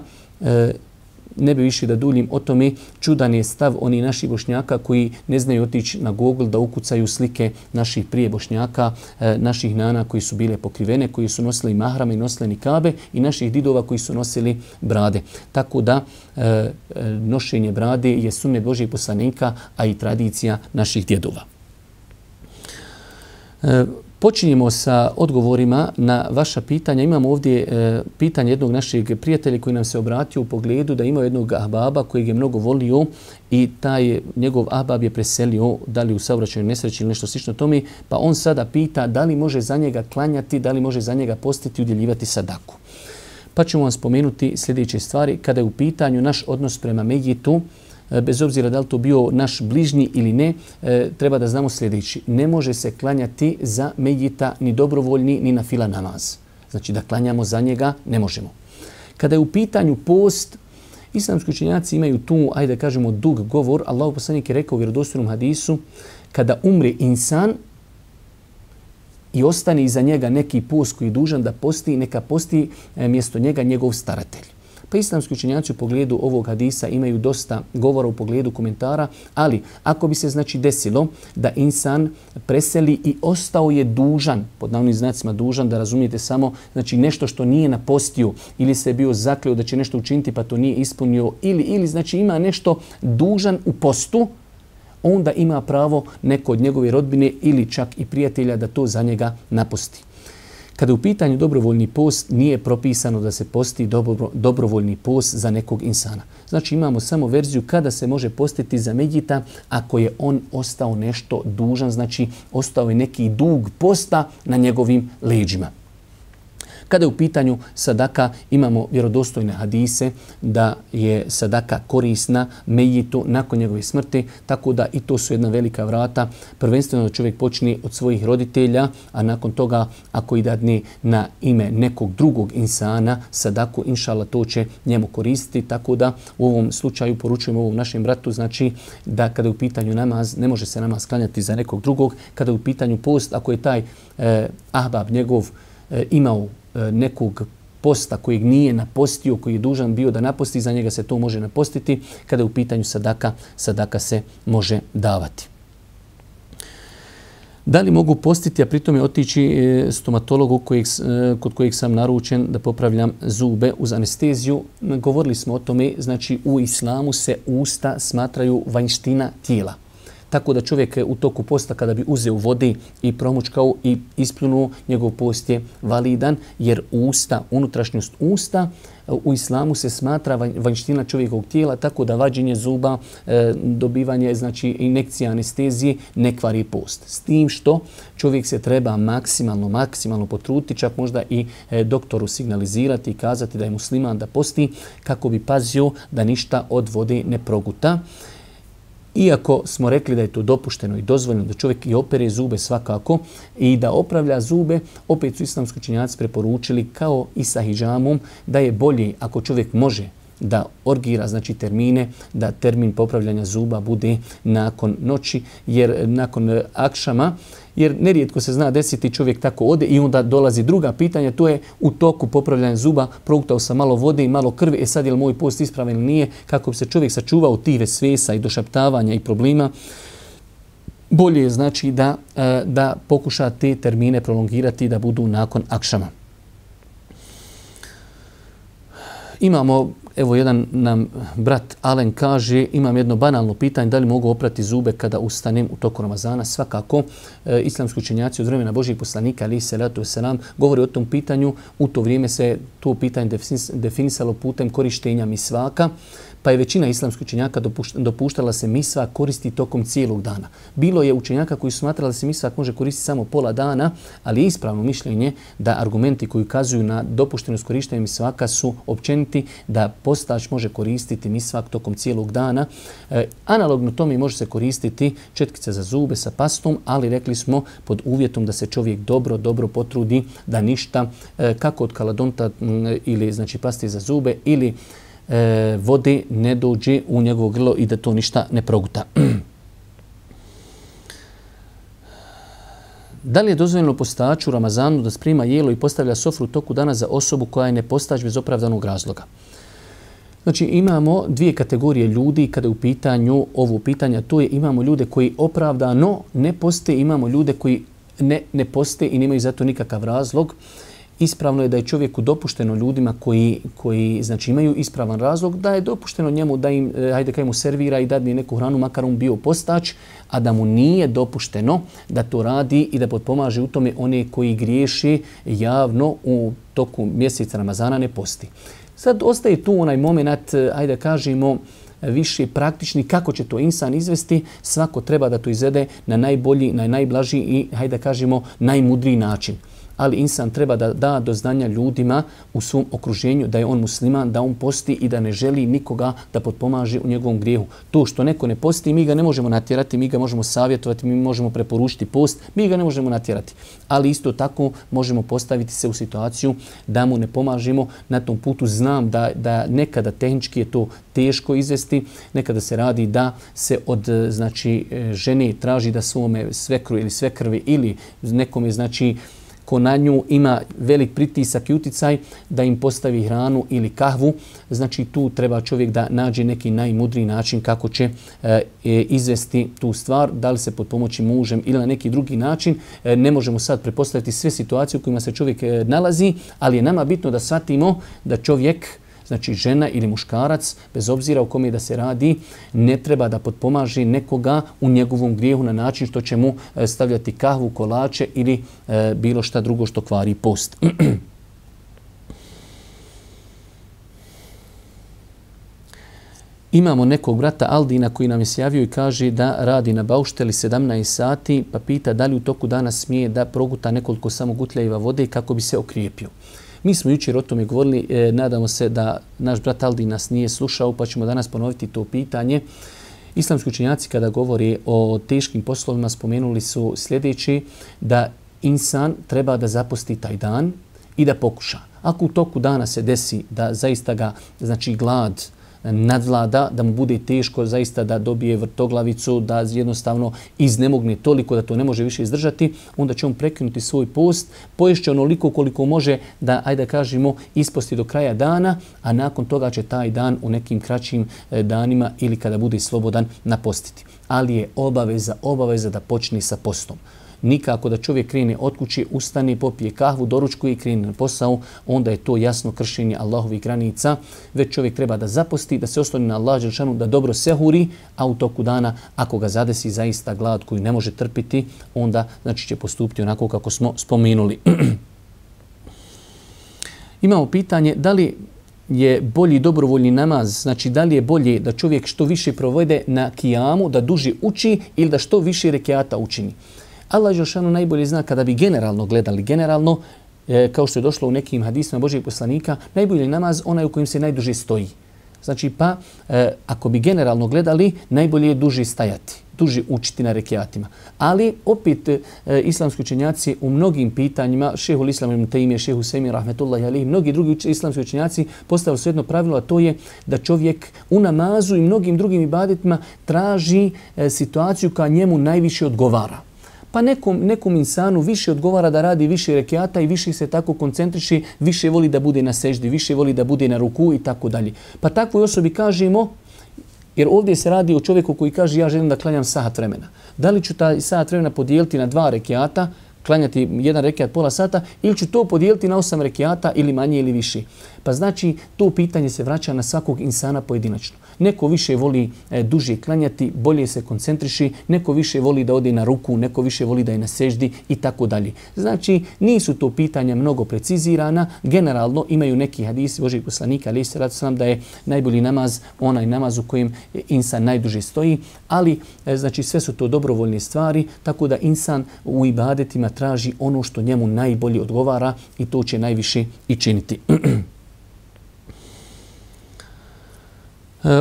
ne bi više da duljim o tome. Čudan je stav oni naših Bošnjaka koji ne znaju otići na Google da ukucaju slike naših prije Bošnjaka, naših nana koji su bile pokrivene, koji su nosili mahrame i nosili nikabe, i naših didova koji su nosili brade. Tako da nošenje brade je sunnet Božjih poslanika, a i tradicija naših djedova. Počinjemo sa odgovorima na vaša pitanja. Imamo ovdje pitanje jednog našeg prijatelja koji nam se obratio u pogledu da ima jednog ahbaba kojeg je mnogo volio i taj njegov ahbab je preselio, da li u saobraćajnoj nesreći ili nešto slično tome, pa on sada pita da li može za njega klanjati, da li može za njega postiti i udjeljivati sadaku. Pa ćemo vam spomenuti sljedeće stvari. Kada je u pitanju naš odnos prema mejitu, bez obzira da li to bio naš bližnji ili ne, treba da znamo sljedeći. Ne može se klanjati za mejita ni dobrovoljni ni na fila namaz. Znači da klanjamo za njega ne možemo. Kada je u pitanju post, islamski učenjaci imaju tu, ajde da kažemo, dug govor. Allahu poslanik je rekao u vjerodostojnom hadisu, kada umre insan i ostane iza njega neki post koji je dužan da posti, neka posti mjesto njega njegov staratelj. Pa islamski učenjaci u pogledu ovog hadisa imaju dosta govora u pogledu komentara, ali ako bi se znači desilo da insan preseli i ostao je dužan, pod navodnim znacima dužan, da razumijete samo znači nešto što nije napostio ili se je bio zakleo da će nešto učiniti pa to nije ispunio ili znači ima nešto dužan u postu, onda ima pravo neko od njegove rodbine ili čak i prijatelja da to za njega naposti. Kada je u pitanju dobrovoljni post, nije propisano da se posti dobrovoljni post za nekog insana. Znači imamo samo verziju kada se može postiti za medjita ako je on ostao nešto dužan, znači ostao je neki dug posta na njegovim leđima. Kada je u pitanju sadaka, imamo vjerodostojne hadise da je sadaka korisna mejitu nakon njegove smrti, tako da i to su jedna velika vrata. Prvenstveno da čovjek počne od svojih roditelja, a nakon toga ako i dadne na ime nekog drugog insana sadaku, inšala to će njemu koristiti. Tako da u ovom slučaju poručujemo ovom našem bratu, znači da kada je u pitanju namaz, ne može se namaz klanjati za nekog drugog. Kada je u pitanju post, ako je taj ahbab njegov imao nekog posta kojeg nije napostio, koji je dužan bio da naposti, za njega se to može napostiti. Kada je u pitanju sadaka, sadaka se može davati. Da li mogu postiti, a pritom je otići stomatologu kod kojeg sam naručen da popravljam zube uz anesteziju? Govorili smo o tome, znači u islamu se usta smatraju vanjština tijela. Tako da čovjek u toku posta kada bi uzeo vode i promučkao i ispljunuo, njegov post je validan, jer usta, unutrašnjost usta u islamu se smatra vanjština čovjekovog tijela, tako da vađenje zuba, dobivanje znači injekcija anestezije ne kvari post. S tim što čovjek se treba maksimalno potruditi, čak možda i doktoru signalizirati i kazati da je musliman da posti, kako bi pazio da ništa od vode ne proguta. Iako smo rekli da je to dopušteno i dozvoljeno da čovjek i opere zube svakako i da opravlja zube, opet su islamski učenjaci preporučili kao i sa hidžamom da je bolje ako čovjek može da orgira znači termine, da termin popravljanja zuba bude nakon noći, jer nakon akšama, jer nerijetko se zna desiti čovjek tako ode i onda dolazi druga pitanja, to je u toku popravljanja zuba, progutao sam malo vode i malo krvi, sad je li moj post ispravan ili nije, kako bi se čovjek sačuvao tih vesvesa i došaptavanja i problema. Bolje je znači da pokuša te termine prolongirati da budu nakon akšama. Imamo, evo jedan nam brat Alen kaže, imam jedno banalno pitanje, da li mogu oprati zube kada ustanem u toku Ramazana? Svakako, islamski učenjaci od vremena Božih poslanika, alejhi selatu vesselam, govori o tom pitanju. U to vrijeme se to pitanje definisalo putem korištenja misvaka, pa je većina islamskih učenjaka dopuštala se misvak koristi tokom cijelog dana. Bilo je učenjaka koji su smatrali da se misvak može koristiti samo pola dana, ali je ispravno mišljenje da argumenti koji ukazuju na dopuštenost korištenja misvaka su općeniti, da postač može koristiti misvak tokom cijelog dana. Analogno tome može se koristiti četkice za zube sa pastom, ali rekli smo pod uvjetom da se čovjek dobro potrudi da ništa, kako od kaladonta ili znači paste za zube ili vode ne dođe u njegovo grlo i da to ništa ne proguta. Da li je dozvoljeno postaču u Ramazanu da sprema jelo i postavlja sofru u toku dana za osobu koja je ne postač bez opravdanog razloga? Znači imamo dvije kategorije ljudi kada je u pitanju ovo pitanja. To je imamo ljude koji opravdano ne poste, imamo ljude koji ne poste i nemaju za to nikakav razlog. Ispravno je da je čovjeku dopušteno ljudima koji znači imaju ispravan razlog, da je dopušteno njemu da im, hajde kaj mu servira i dadne neku hranu, makar on bio postač, a da mu nije dopušteno da to radi i da potpomaže u tome one koji griješi javno u toku mjeseca Ramazana ne posti. Sad ostaje tu onaj moment, hajde kažemo, više praktični, kako će to insan izvesti, svako treba da to izvede na najbolji, na najblaži i, hajde kažemo, najmudriji način. ali insan treba da da do znanja ljudima u svom okruženju da je on musliman, da on posti i da ne želi nikoga da potpomaže u njegovom grijehu. To što neko ne posti, mi ga ne možemo natjerati, mi ga možemo savjetovati, mi možemo preporučiti post, mi ga ne možemo natjerati. Ali isto tako možemo postaviti se u situaciju da mu ne pomažemo na tom putu. Znam da nekada tehnički je to teško izvesti, nekada se radi da se od žene traži da svome svekru ili svekrvi ili nekome ko na nju ima velik pritisak i uticaj da im postavi hranu ili kahvu. Znači tu treba čovjek da nađe neki najmudriji način kako će izvesti tu stvar, da li se pod pomoći mužem ili na neki drugi način. Ne možemo sad prepostaviti sve situacije u kojima se čovjek nalazi, ali je nama bitno da shvatimo da čovjek, znači žena ili muškarac, bez obzira o kome da se radi, ne treba da potpomaže nekoga u njegovom grijehu na način što će mu stavljati kahvu, kolače ili bilo šta drugo što kvari post. Imamo nekog brata Aldina koji nam je sjavio i kaže da radi na baušteli 17 sati, pa pita da li u toku dana smije da proguta nekoliko samo gutljajeva vode kako bi se okrijepio. Mi smo jučer o tome govorili, nadamo se da naš brat Aldin nas nije slušao, pa ćemo danas ponoviti to pitanje. Islamski učenjaci kada govori o teškim poslovima spomenuli su sljedeći, da insan treba da zaposti taj dan i da pokuša. Ako u toku dana se desi da zaista ga, glad nadvlada, da mu bude teško zaista da dobije vrtoglavicu, da jednostavno iznemogne toliko da to ne može više izdržati, onda će on prekinuti svoj post, poješće onoliko koliko može da, ajde kažemo, isposti do kraja dana, a nakon toga će taj dan u nekim kraćim danima ili kada bude slobodan napostiti. Ali je obaveza da počne sa postom. Nikako da čovjek krene od kuće, ustane, popije kahvu, doručkuje i krene na posao, onda je to jasno kršenje Allahovih granica. Već čovjek treba da zaposti, da se osloni na Allah dželešanu, da dobro sehuri, a u toku dana, ako ga zadesi zaista glad koju ne može trpiti, onda će postupiti onako kako smo spomenuli. Imamo pitanje, da li je bolji dobrovoljni namaz, znači da li je bolje da čovjek što više provede na kijamu, da duže uči ili da što više rekiata učini. Allah dželešanu najbolje zna kada bi generalno gledali, kao što je došlo u nekim hadisima Božijeg poslanika, najbolji namaz onaj u kojem se najduže stoji. Znači pa ako bi generalno gledali, najbolje je duže stajati, duže učiti na rekiatima. Ali opet islamski učenjaci u mnogim pitanjima, šehul Islam ibn Tejmije, šehu Sejmi rahmetullahi alejhi, mnogi drugi islamski učenjaci postavili su jedno pravilo, a to je da čovjek u namazu i mnogim drugim ibadetima traži situaciju koja njemu najviše odgovara. Pa nekom insanu više odgovara da radi više rekiata i više se tako koncentriši, više voli da bude na seždi, više voli da bude na ruku i tako dalje. Pa takvoj osobi kažemo, jer ovdje se radi o čovjeku koji kaže ja želim da klanjam sat vremena. Da li ću taj sat vremena podijeliti na 2 rekiata, klanjati jedan rekiat pola sata, ili ću to podijeliti na 8 rekiata ili manje ili više. Pa znači to pitanje se vraća na svakog insana pojedinačno. Neko više voli duže klanjati, bolje se koncentriši, neko više voli da ode na ruku, neko više voli da je na seždi i tako dalje. Znači nisu to pitanja mnogo precizirana, generalno imaju neki hadisi Božijeg poslanika, ali se radi da je najbolji namaz onaj namaz u kojem insan najduže stoji, ali znači sve su to dobrovoljne stvari, tako da insan u ibadetima traži ono što njemu najbolje odgovara i to će najviše i činiti.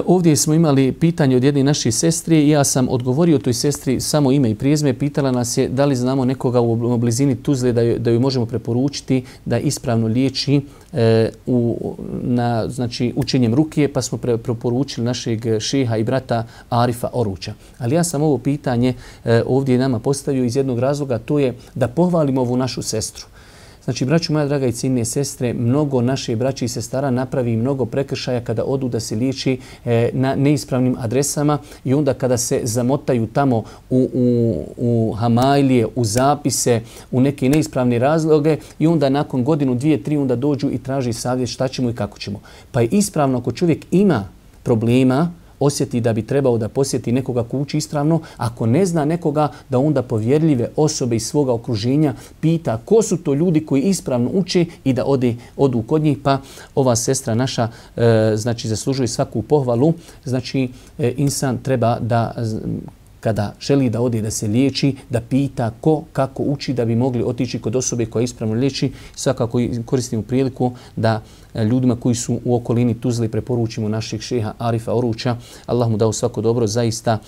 Ovdje smo imali pitanje od jedne naše sestre i ja sam odgovorio toj sestri samo ime i prijezme. Pitala nas je da li znamo nekoga u blizini Tuzle da ju možemo preporučiti da ispravno liječi učenjem rukije, pa smo preporučili našeg šeha i brata Arifa Oruča. Ali ja sam ovo pitanje ovdje nama postavio iz jednog razloga, to je da pohvalimo ovu našu sestru. Znači, braću moja draga i cijenine sestre, mnogo naše braće i sestara napravi mnogo prekršaja kada odu da se liječi na neispravnim adresama i onda kada se zamotaju tamo u hamajlije, u zapise, u neke neispravne razloge i onda nakon godinu, 2, 3 onda dođu i traži savjet šta ćemo i kako ćemo. Pa je ispravno ako čovjek ima problema, osjeti da bi trebao da posjeti nekoga ko uči ispravno, ako ne zna nekoga da onda povjerljive osobe iz svoga okruženja pita ko su to ljudi koji ispravno uče i da odu kod njih, pa ova sestra naša zaslužuje svaku pohvalu. Znači insan treba da kada želi da ode da se liječi, da pita ko kako uči da bi mogli otići kod osobe koja ispravno liječi. Svakako koristimo priliku da ljudima koji su u okolini Tuzle preporučimo naših šeha Arifa Oruća. Allah mu dao svako dobro. Zaista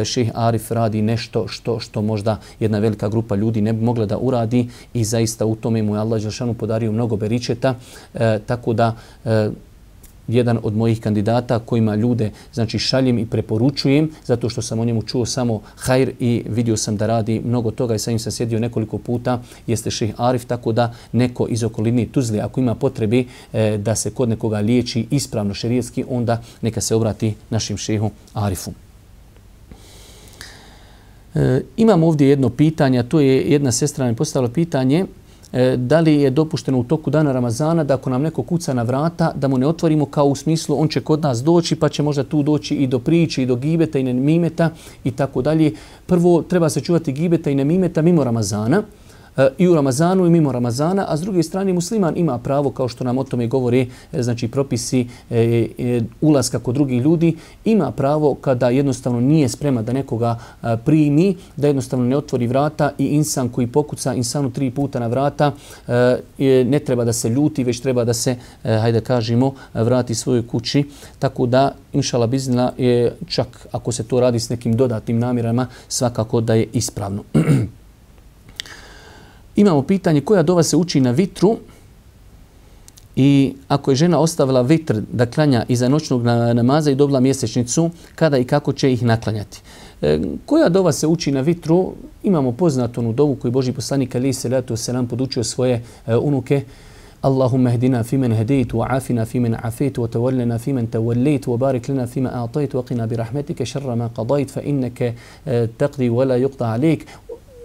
šeh Arif radi nešto što možda jedna velika grupa ljudi ne bi mogla da uradi i zaista u tome mu je Allah dželešanu podario mnogo beričeta. Tako da jedan od mojih kandidata kojima ljude znači šaljem i preporučujem zato što sam o njemu čuo samo hajr i vidio sam da radi mnogo toga i sa njim sam sjedio nekoliko puta, jeste šejh Arif, tako da neko iz okoline Tuzle ako ima potrebe da se kod nekoga liječi ispravno šerijatski, onda neka se obrati našim šejhu Arifu. Imamo ovdje jedno pitanje, to je jedna sestra mi postavila pitanje. Da li je dopušteno u toku dana Ramazana da ako nam neko kuca na vrata da mu ne otvorimo, kao u smislu on će kod nas doći pa će možda tu doći i do priče i do gibeta i nemimeta i tako dalje. Prvo treba se čuvati gibeta i nemimeta mimo Ramazana, i u Ramazanu i mimo Ramazana, a s druge strane musliman ima pravo, kao što nam o tome govore znači propisi ulaska kod drugih ljudi, ima pravo kada jednostavno nije spreman da nekoga primi, da jednostavno ne otvori vrata i insan koji pokuca insanu 3 puta na vrata ne treba da se ljuti, već treba da se, hajde kažemo, vrati svojoj kući. Tako da, inšala biznila, čak ako se to radi s nekim dodatnim namjerama, svakako da je ispravno. Imamo pitanje koja dova se uči na vitru i ako je žena ostavila vitr da klanja iza noćnog namaza i dobila mjesečnicu, kada i kako će ih naklanjati. Koja dova se uči na vitru? Imamo poznatu onu dovu koju Božji poslanik alejhi selatu vesselam podučio svoje unuke. Allahumma hdina fimen hedejt, wa afina fimen afejt, wa tawallana fimen tawallejt, wa barik lana fima a'tajt, wa qina bi rahmetike šarra ma qadajt, fa inneke taqdi wa la yuqda alejk.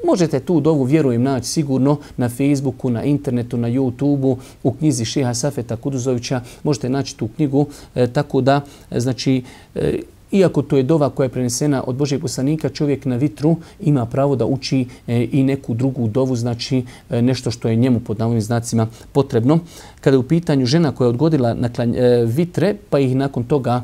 Možete tu dovu, vjerujem, naći sigurno na Facebooku, na internetu, na YouTubeu, u knjizi šeha Safeta Kuduzovića. Možete naći tu knjigu, tako da, znači, iako to je dova koja je prenesena od Božjeg poslanika, čovjek na vitru ima pravo da uči i neku drugu dovu, znači nešto što je njemu pod navodnim znacima potrebno. Kada je u pitanju žena koja je odgodila vitre, pa ih nakon toga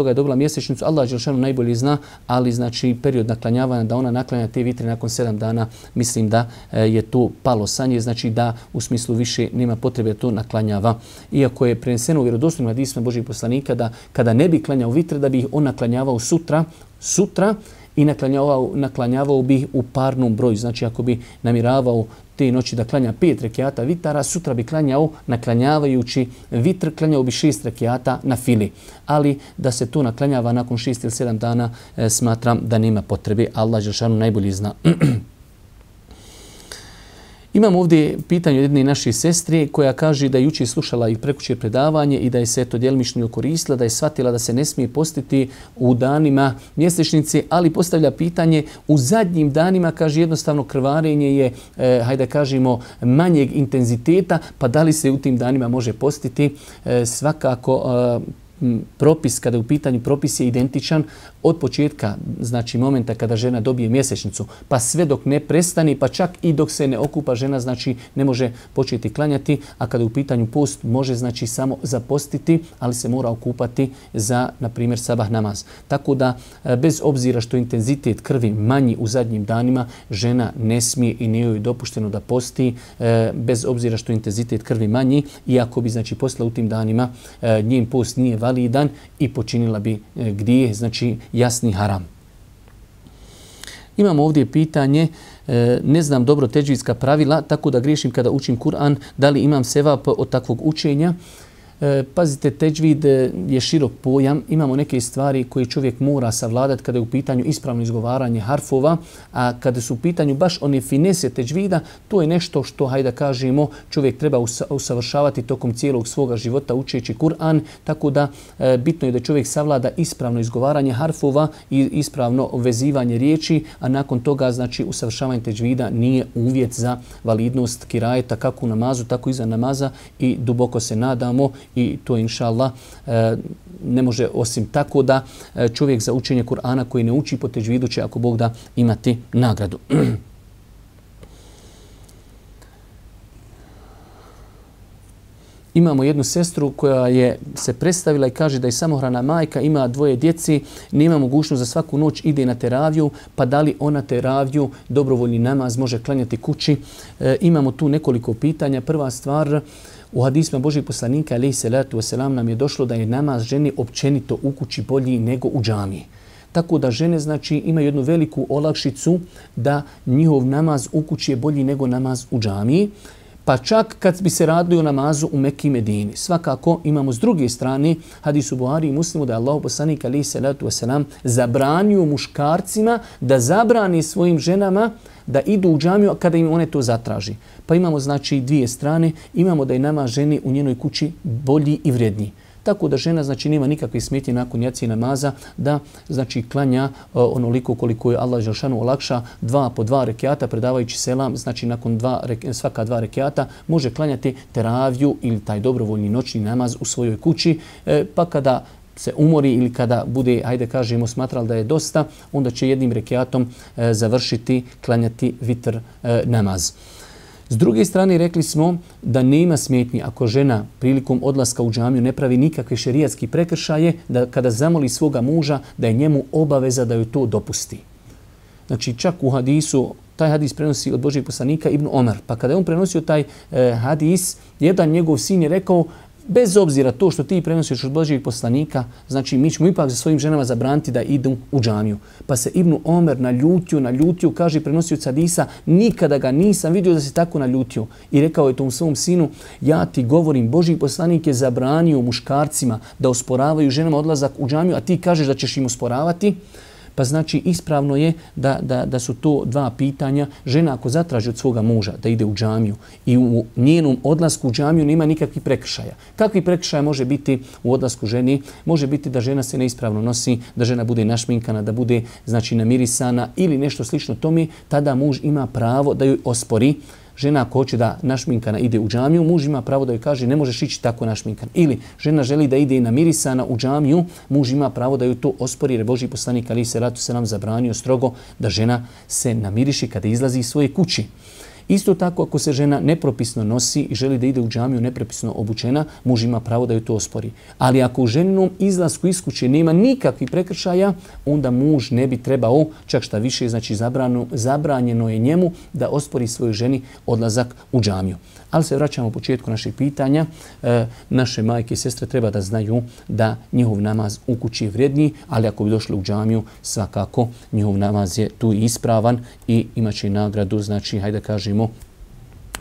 je dobila mjesečnicu, Allah dželešanu najbolje zna, ali znači period naklanjavanja da ona naklanja te vitre nakon 7 dana, mislim da je to palo sa nje, znači da u smislu više nema potrebe da to naklanjava. Iako je preneseno u vjerodostojnim hadisima Božjih poslanika da kada ne bi klanjao vitre, da bi ih on naklanjavao sutra i naklanjavao bi ih u parnom broju. Znači ako bi namiravao te noći da klanja 5 rekiata vitara, sutra bi klanjao, naklanjavajući vitr, klanjao bi 6 rekiata na fili. Ali da se to naklanjava nakon 6 ili 7 dana, smatram da nema potrebe. Allah dželešanu najbolje zna. Imam ovdje pitanje od jedne naše sestre koja kaže da je jučer slušala i prekuće predavanje i da je se to djelimično koristila, da je shvatila da se ne smije postiti u danima mjesečnice, ali postavlja pitanje u zadnjim danima, kaže jednostavno krvarenje je, hajde kažemo, manjeg intenziteta, pa da li se u tim danima može postiti? Svakako propis, kada je u pitanju propis je identičan od početka, znači momenta kada žena dobije mjesečnicu, pa sve dok ne prestani, pa čak i dok se ne okupa žena, znači ne može početi klanjati, a kada je u pitanju post, može znači samo zapostiti, ali se mora okupati za, na primjer, sabah namaz. Tako da, bez obzira što intenzitet krvi manji u zadnjim danima, žena ne smije i nije joj dopušteno da posti, bez obzira što intenzitet krvi manji, iako bi, znači, postala u tim danima, njen post nije validan i počinila bi grijeh, znači jasni haram. Imamo ovdje pitanje, ne znam dobro teđvidska pravila, tako da griješim kada učim Kur'an, da li imam sevap od takvog učenja? Pazite, teđvid je širok pojam, imamo neke stvari koje čovjek mora savladati kada je u pitanju ispravno izgovaranje harfova, a kada su u pitanju baš one finese teđvida, to je nešto što, hajde kažemo, čovjek treba usavršavati tokom cijelog svoga života učeći Kur'an, tako da bitno je da čovjek savlada ispravno izgovaranje harfova i ispravno vezivanje riječi, a nakon toga, znači, usavršavanje teđvida nije uvjet za validnost kirajeta kako u namazu, tako i izvan namaza i duboko se nadamo i to inšallah ne može osim tako da čovjek za učenje Kur'ana koji ne uči po teđvidu će, ako Bog da, imati nagradu. imamo jednu sestru koja je se predstavila i kaže da je samohrana majka, ima 2 djeci, nema mogućnost za svaku noć ide na teraviju, pa da li ona teraviju, dobrovoljni namaz može klanjati kući? Imamo tu nekoliko pitanja. Prva stvar, u hadisma Božih poslanika alejhi salatu vesselam nam je došlo da je namaz ženi općenito u kući bolji nego u džamiji. Tako da žene znači imaju jednu veliku olakšicu da njihov namaz u kući je bolji nego namaz u džamiji. Pa čak kad bi se radili o namazu u Mekki i Medini. Svakako imamo s druge strane hadisu Buhari i Muslimu da je Allahu poslanik alejhi salatu vesselam zabranio muškarcima da zabrani svojim ženama da idu u džamiju kada im one to zatraži. Pa imamo znači 2 strane. Imamo da je namaz ženi u njenoj kući bolji i vrijedniji. Tako da žena znači nema nikakve smetnje nakon jacije namaza da znači klanja onoliko koliko je Allah dželešanu olakša 2 po 2 rekjata predavajući selam, znači nakon svaka 2 rekjata može klanjati teraviju ili taj dobrovoljni noćni namaz u svojoj kući, pa kada se umori ili kada bude, hajde kažemo, smatrali da je dosta, onda će jednim rekjatom završiti klanjati vitr namaz. S druge strane, rekli smo da nema smetnji ako žena prilikom odlaska u džamiju ne pravi nikakve šerijatske prekršaje, da kada zamoli svoga muža da je njemu obaveza da joj to dopusti. Znači čak u hadisu, taj hadis prenosi od Božijeg poslanika Ibn Omar, pa kada je on prenosio taj hadis, jedan njegov sin je rekao, bez obzira to što ti prenosiš od Božijeg poslanika, znači mi ćemo ipak za svojim ženama zabraniti da idu u džamiju. Pa se Ibn Omer naljutio, kaže prenosioc hadisa, nikada ga nisam vidio da se tako naljutio. I rekao je tom svom sinu, ja ti govorim, Božji poslanik je zabranio muškarcima da osporavaju ženama odlazak u džamiju, a ti kažeš da ćeš im osporavati. Pa znači ispravno je da su to 2 pitanja. Žena ako zatraži od svoga muža da ide u džamiju i u njenom odlasku u džamiju nema nikakvih prekršaja. Kakvi prekršaja može biti u odlasku ženi? Može biti da žena se neispravno nosi, da žena bude našminkana, da bude znači namirisana ili nešto slično tome, tada muž ima pravo da joj ospori. Žena ako hoće da našminkana ide u džamiju, muž ima pravo da joj kaže ne možeš ići tako našminkan. Ili žena želi da ide namirisana u džamiju, muž ima pravo da joj to ospori, jer Božji poslanik alejhi salatu vesselam zabranio strogo da žena se namiriši kada izlazi iz svoje kući. Isto tako ako se žena nepropisno nosi i želi da ide u džamiju nepropisno obučena, muž ima pravo da joj to ospori. Ali ako u ženinom izlasku iz kuće nema nikakvih prekršaja, onda muž ne bi trebao, čak šta više, znači zabranjeno je njemu da ospori svojoj ženi odlazak u džamiju. Ali se vraćamo u početku naših pitanja. Naše majke i sestre treba da znaju da njihov namaz u kući je vrijedniji, ali ako bi došli u džamiju, svakako njihov namaz je tu ispravan i imaće nagradu, znači, hajde kažemo,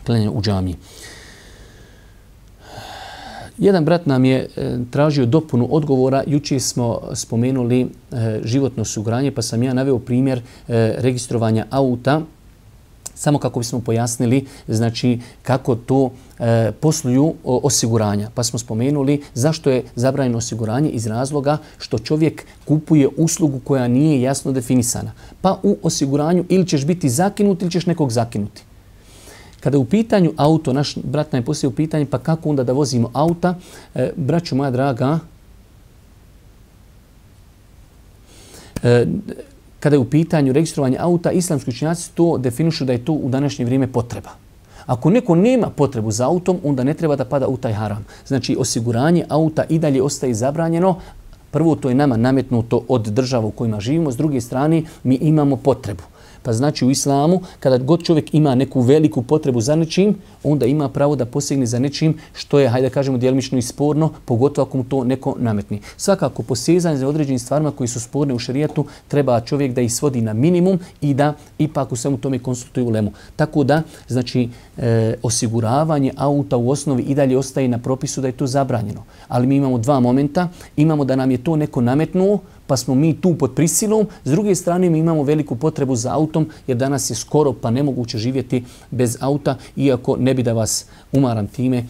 klanjanje u džamiji. Jedan brat nam je tražio dopunu odgovora. Jučer smo spomenuli životno osiguranje, pa sam ja naveo primjer registrovanja auta, samo kako bismo pojasnili znači kako to posluju osiguranja. Pa smo spomenuli zašto je zabranjeno osiguranje iz razloga što čovjek kupuje uslugu koja nije jasno definisana. Pa u osiguranju ili ćeš biti zakinut ili ćeš nekog zakinuti. Kada je u pitanju auto, naš brat nam je postavio pitanje pa kako onda da vozimo auta, braćo moja draga, kada je u pitanju registrovanja auta, islamski učenjaci to definišu da je to u današnje vrijeme potreba. Ako neko nema potrebu za autom, onda ne treba da pada u taj haram. Znači, osiguranje auta i dalje ostaje zabranjeno. Prvo, to je nama nametnuto od država u kojima živimo. S druge strane, mi imamo potrebu. Pa znači u islamu, kada god čovjek ima neku veliku potrebu za nečim, onda ima pravo da posegne za nečim što je, hajde da kažemo, djelimično i sporno, pogotovo ako mu to neko nametni. Svakako, posezanje za određenim stvarima koji su sporne u šerijatu, treba čovjek da ih svodi na minimum i da ipak u svemu tome konsultuje ulemu. Tako da, znači, osiguravanje auta u osnovi i dalje ostaje na propisu da je to zabranjeno. Ali mi imamo 2 momenta. Imamo da nam je to neko nametnuo, pa smo mi tu pod prisilom. S druge strane, mi imamo veliku potrebu za autom, jer danas je skoro pa nemoguće živjeti bez auta, iako ne bi da vas umaram time,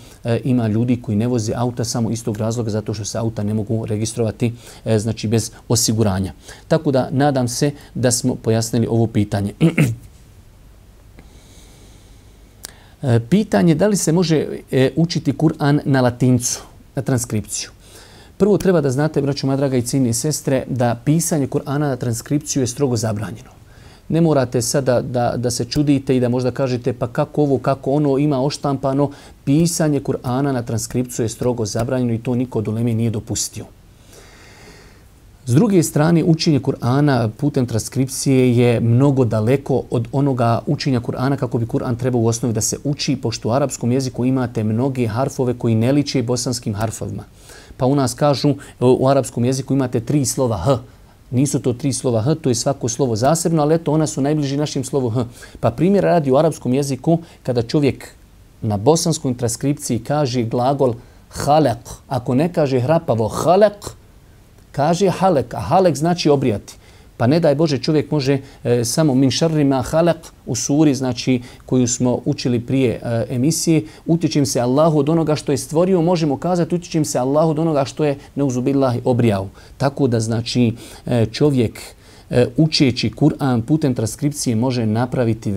ima ljudi koji ne voze auta samo iz tog razloga zato što se auta ne mogu registrovati znači bez osiguranja. Tako da nadam se da smo pojasnili ovo pitanje. Pitanje da li se može učiti Kur'an na latincu, na transkripciju. Prvo treba da znate, braćo moja draga i cijenjene sestre, da pisanje Kur'ana na transkripciju je strogo zabranjeno. Ne morate sada da se čudite i da možda kažete pa kako ovo, kako ono, ima oštampano. Pisanje Kur'ana na transkripciju je strogo zabranjeno i to niko od uleme nije dopustio. S druge strane, učenje Kur'ana putem transkripcije je mnogo daleko od onoga učenja Kur'ana kako bi Kur'an trebao u osnovi da se uči, pošto u arapskom jeziku imate mnoge harfove koji ne liče bosanskim harfovima. Pa u nas kažu u arapskom jeziku imate 3 slova H. Nisu to 3 slova H, to je svako slovo zasebno, ali eto, ona su najbliži našim slovu H. Pa primjer radi u arapskom jeziku kada čovjek na bosanskoj transkripciji kaže glagol halak, ako ne kaže hrapavo halak, kaže halek, a halek znači obrijati. Pa ne daj Bože, čovjek može samo min šarrima halak u suri, znači koju smo učili prije emisije, utječim se Allahu od onoga što je stvorio, možemo kazati utječim se Allahu od onoga što je neuzubillahi obrijao. Tako da znači čovjek učeći Kur'an putem transkripcije može napraviti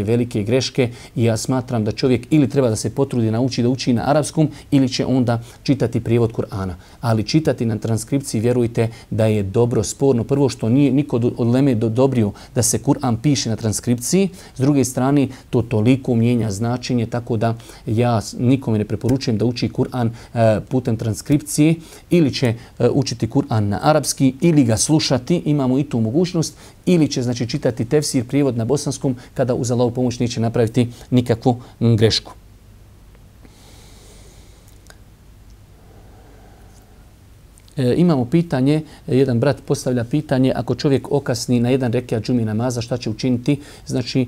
velike greške i ja smatram da čovjek ili treba da se potrudi nauči da uči na arapskom ili će onda čitati prijevod Kur'ana. Ali čitati na transkripciji, vjerujte da je dobro, sporno. Prvo što nije niko od uleme dodobrio da se Kur'an piše na transkripciji, s druge strane to toliko mijenja značenje, tako da ja nikome ne preporučujem da uči Kur'an putem transkripcije ili će učiti Kur'an na arapski ili ga slušati, imamo i tu mogućnost, ili će znači čitati tefsir, prijevod na bosanskom, kada uz Allahovu pomoć neće napraviti nikakvu grešku. Imamo pitanje, jedan brat postavlja pitanje, ako čovjek okasni na jedan rekiat džumi namaza, šta će učiniti? Znači,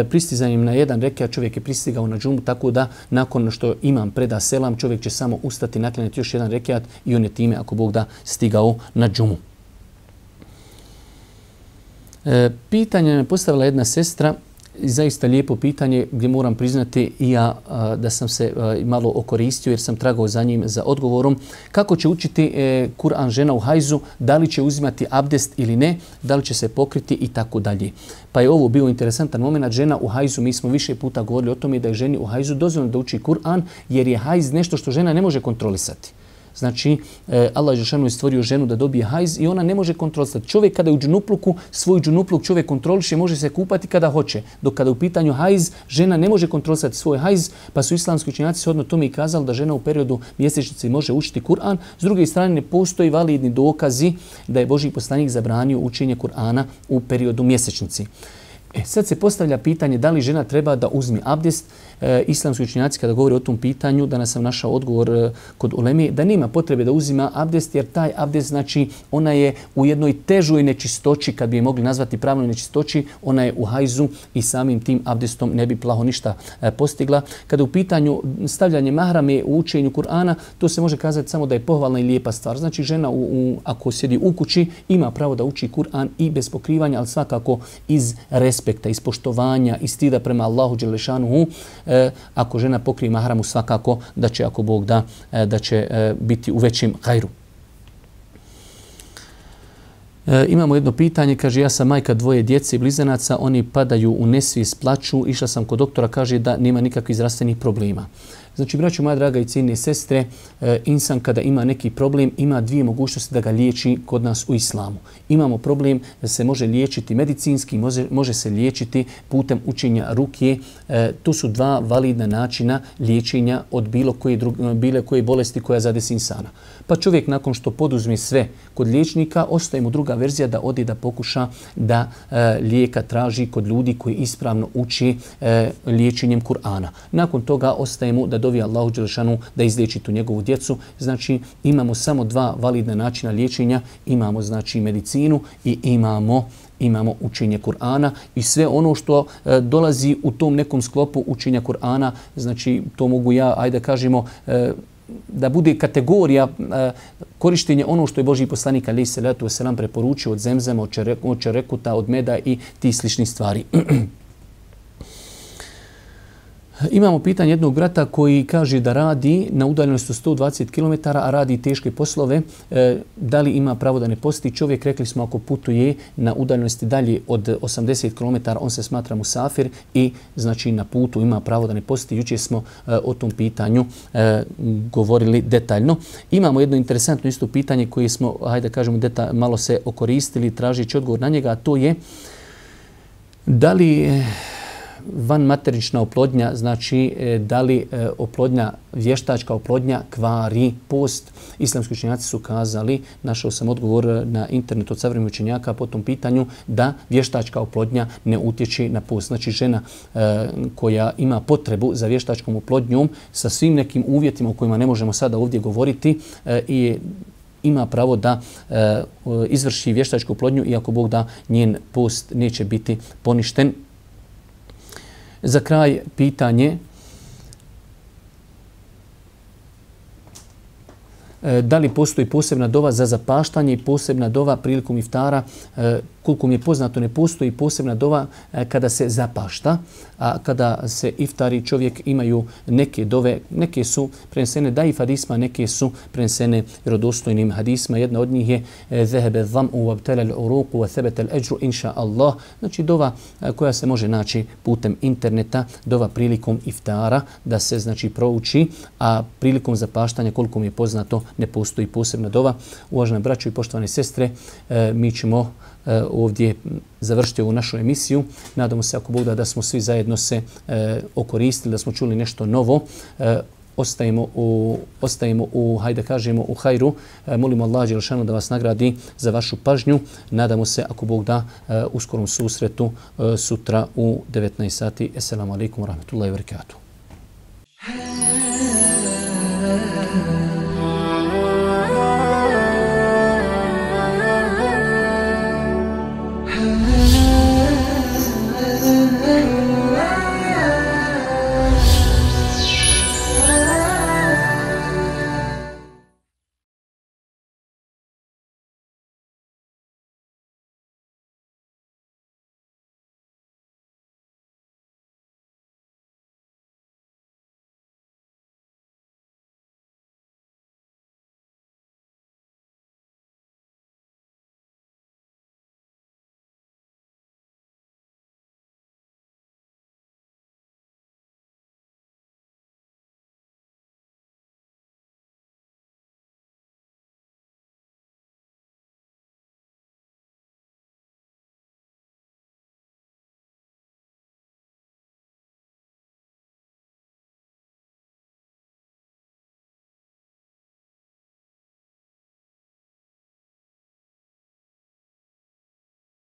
pristizanjem na jedan rekiat čovjek je pristigao na džumu, tako da nakon što imam preda selam, čovjek će samo ustati, naklanjati još jedan rekiat i on je time, ako Bog da, stigao na džumu. Pitanje me postavila jedna sestra, zaista lijepo pitanje gdje moram priznati i ja da sam se malo okoristio jer sam tragao za njim za odgovorom. Kako će učiti Kur'an žena u hajzu, da li će uzimati abdest ili ne, da li će se pokriti i tako dalje. Pa je ovo bio interesantan moment. Žena u hajzu, mi smo više puta govorili o tome da je ženi u hajzu dozvoljeno da uči Kur'an jer je hajz nešto što žena ne može kontrolisati. Znači, Allah je stvorio ženu da dobije hajz i ona ne može kontrolisati. Čovjek kada je u džunupluku, svoj džunupluk čovjek kontroliše, može se kupati kada hoće. Dok kada je u pitanju hajz, žena ne može kontrolisati svoj hajz, pa su islamski učenjaci shodno tome i kazali da žena u periodu mjesečnice može učiti Kur'an. S druge strane, ne postoji validni dokazi da je Božji poslanik zabranio učenje Kur'ana u periodu mjesečnici. Sad se postavlja pitanje da li žena treba da uzme abdest. Islamski učenjaci kada govore o tom pitanju, danas sam našao odgovor kod uleme, da nema potrebe da uzima abdest jer taj abdest znači ona je u jednoj težoj nečistoći, kad bi je mogli nazvati pravnoj nečistoći, ona je u hajzu i samim tim abdestom ne bi plaho ništa postigla. Kada u pitanju stavljanje mahrame u učenju Kur'ana, to se može kazati samo da je pohvalna i lijepa stvar. Znači žena ako sjedi u kući ima pravo da uči Kur'an i bez pokrivanja, ali svakako iz respekta, iz poštovanja, iz stida prema Allahu dželešanuhu. Ako žena pokrije mahramu, svakako da će, ako Bog da, da će biti u većem hajru. Imamo jedno pitanje, kaže ja sam majka 2 djece i blizanaca, oni padaju u nesvijest, plaču, išla sam kod doktora, kaže da nema nikakvih zdravstvenih problema. Znači, braćo moja draga i cijenine sestre, insan kada ima neki problem, ima 2 mogućnosti da ga liječi kod nas u islamu. Imamo problem da se može liječiti medicinski, može se liječiti putem učenja ruke. To su 2 validna načina liječenja od bilo koje bolesti koja zadesi insana. Pa čovjek nakon što poduzme sve kod liječnika, ostaje mu druga verzija da ode da pokuša da lijeka traži kod ljudi koji ispravno uči liječenjem Kur'ana. Nakon toga ostaje mu da dovi Allahu dželešanu da izliječi tu njegovu djecu. Znači imamo samo 2 validna načina liječenja, imamo znači medicinu i imamo učenje Kur'ana i sve ono što dolazi u tom nekom sklopu učenja Kur'ana, znači to mogu ja, ajde kažemo, da bude kategorija korištenja ono što je Božji poslanik alejhi selatu vesselam preporučio od zemzema, od čerekuta, od meda i ti sličnih stvari. Imamo pitanje jednog brata koji kaže da radi na udaljenosti 120 km, a radi teške poslove. Da li ima pravo da ne posti? Čovjek, rekli smo, ako putuje na udaljenosti dalje od 80 km, on se smatra musafir i znači na putu ima pravo da ne posti. Jučer smo o tom pitanju govorili detaljno. Imamo jedno interesantno isto pitanje koje smo, hajde kažemo, malo se okoristili tražeći odgovor na njega, a to je Da li vanmaterična oplodnja, znači da li oplodnja, vještačka oplodnja kvari post? Islamski učenjaci su kazali, našao sam odgovor na internetu od savremenih učenjaka po tom pitanju, da vještačka oplodnja ne utječe na post. Znači žena koja ima potrebu za vještačkom oplodnjom sa svim nekim uvjetima o kojima ne možemo sada ovdje govoriti i ima pravo da izvrši vještačku oplodnju i ako Bog da, njen post neće biti poništen. Za kraj pitanje, da li postoji posebna dova za zapaštanje i posebna dova prilikom iftara? Koliko mi je poznato, ne postoji posebna dova kada se zapašta, a kada se iftari čovjek imaju neke dove, neke su prenesene daif hadisma, neke su prenesene vjerodostojnim hadisma. Jedna od njih je zahebe dham'u wabtala al-uruqu wa thabata al-ajru insha Allah. Znači dova koja se može naći putem interneta, dova prilikom iftara da se znači prouči, a prilikom zapaštanja, koliko mi je poznato, ne postoji posebna dova. Uvažene braćo i poštovane sestre, mi ćemo ovdje završiti ovu našu emisiju. Nadamo se, ako Bog da, da smo svi zajedno se okoristili, da smo čuli nešto novo. Ostajemo u, hajde kažemo, u hajru. Molimo Allah dželešanu da vas nagradi za vašu pažnju. Nadamo se, ako Bog da, u skorom susretu sutra u 19 sati. Assalamu alaikum wa rahmatullahi wa barakatuh.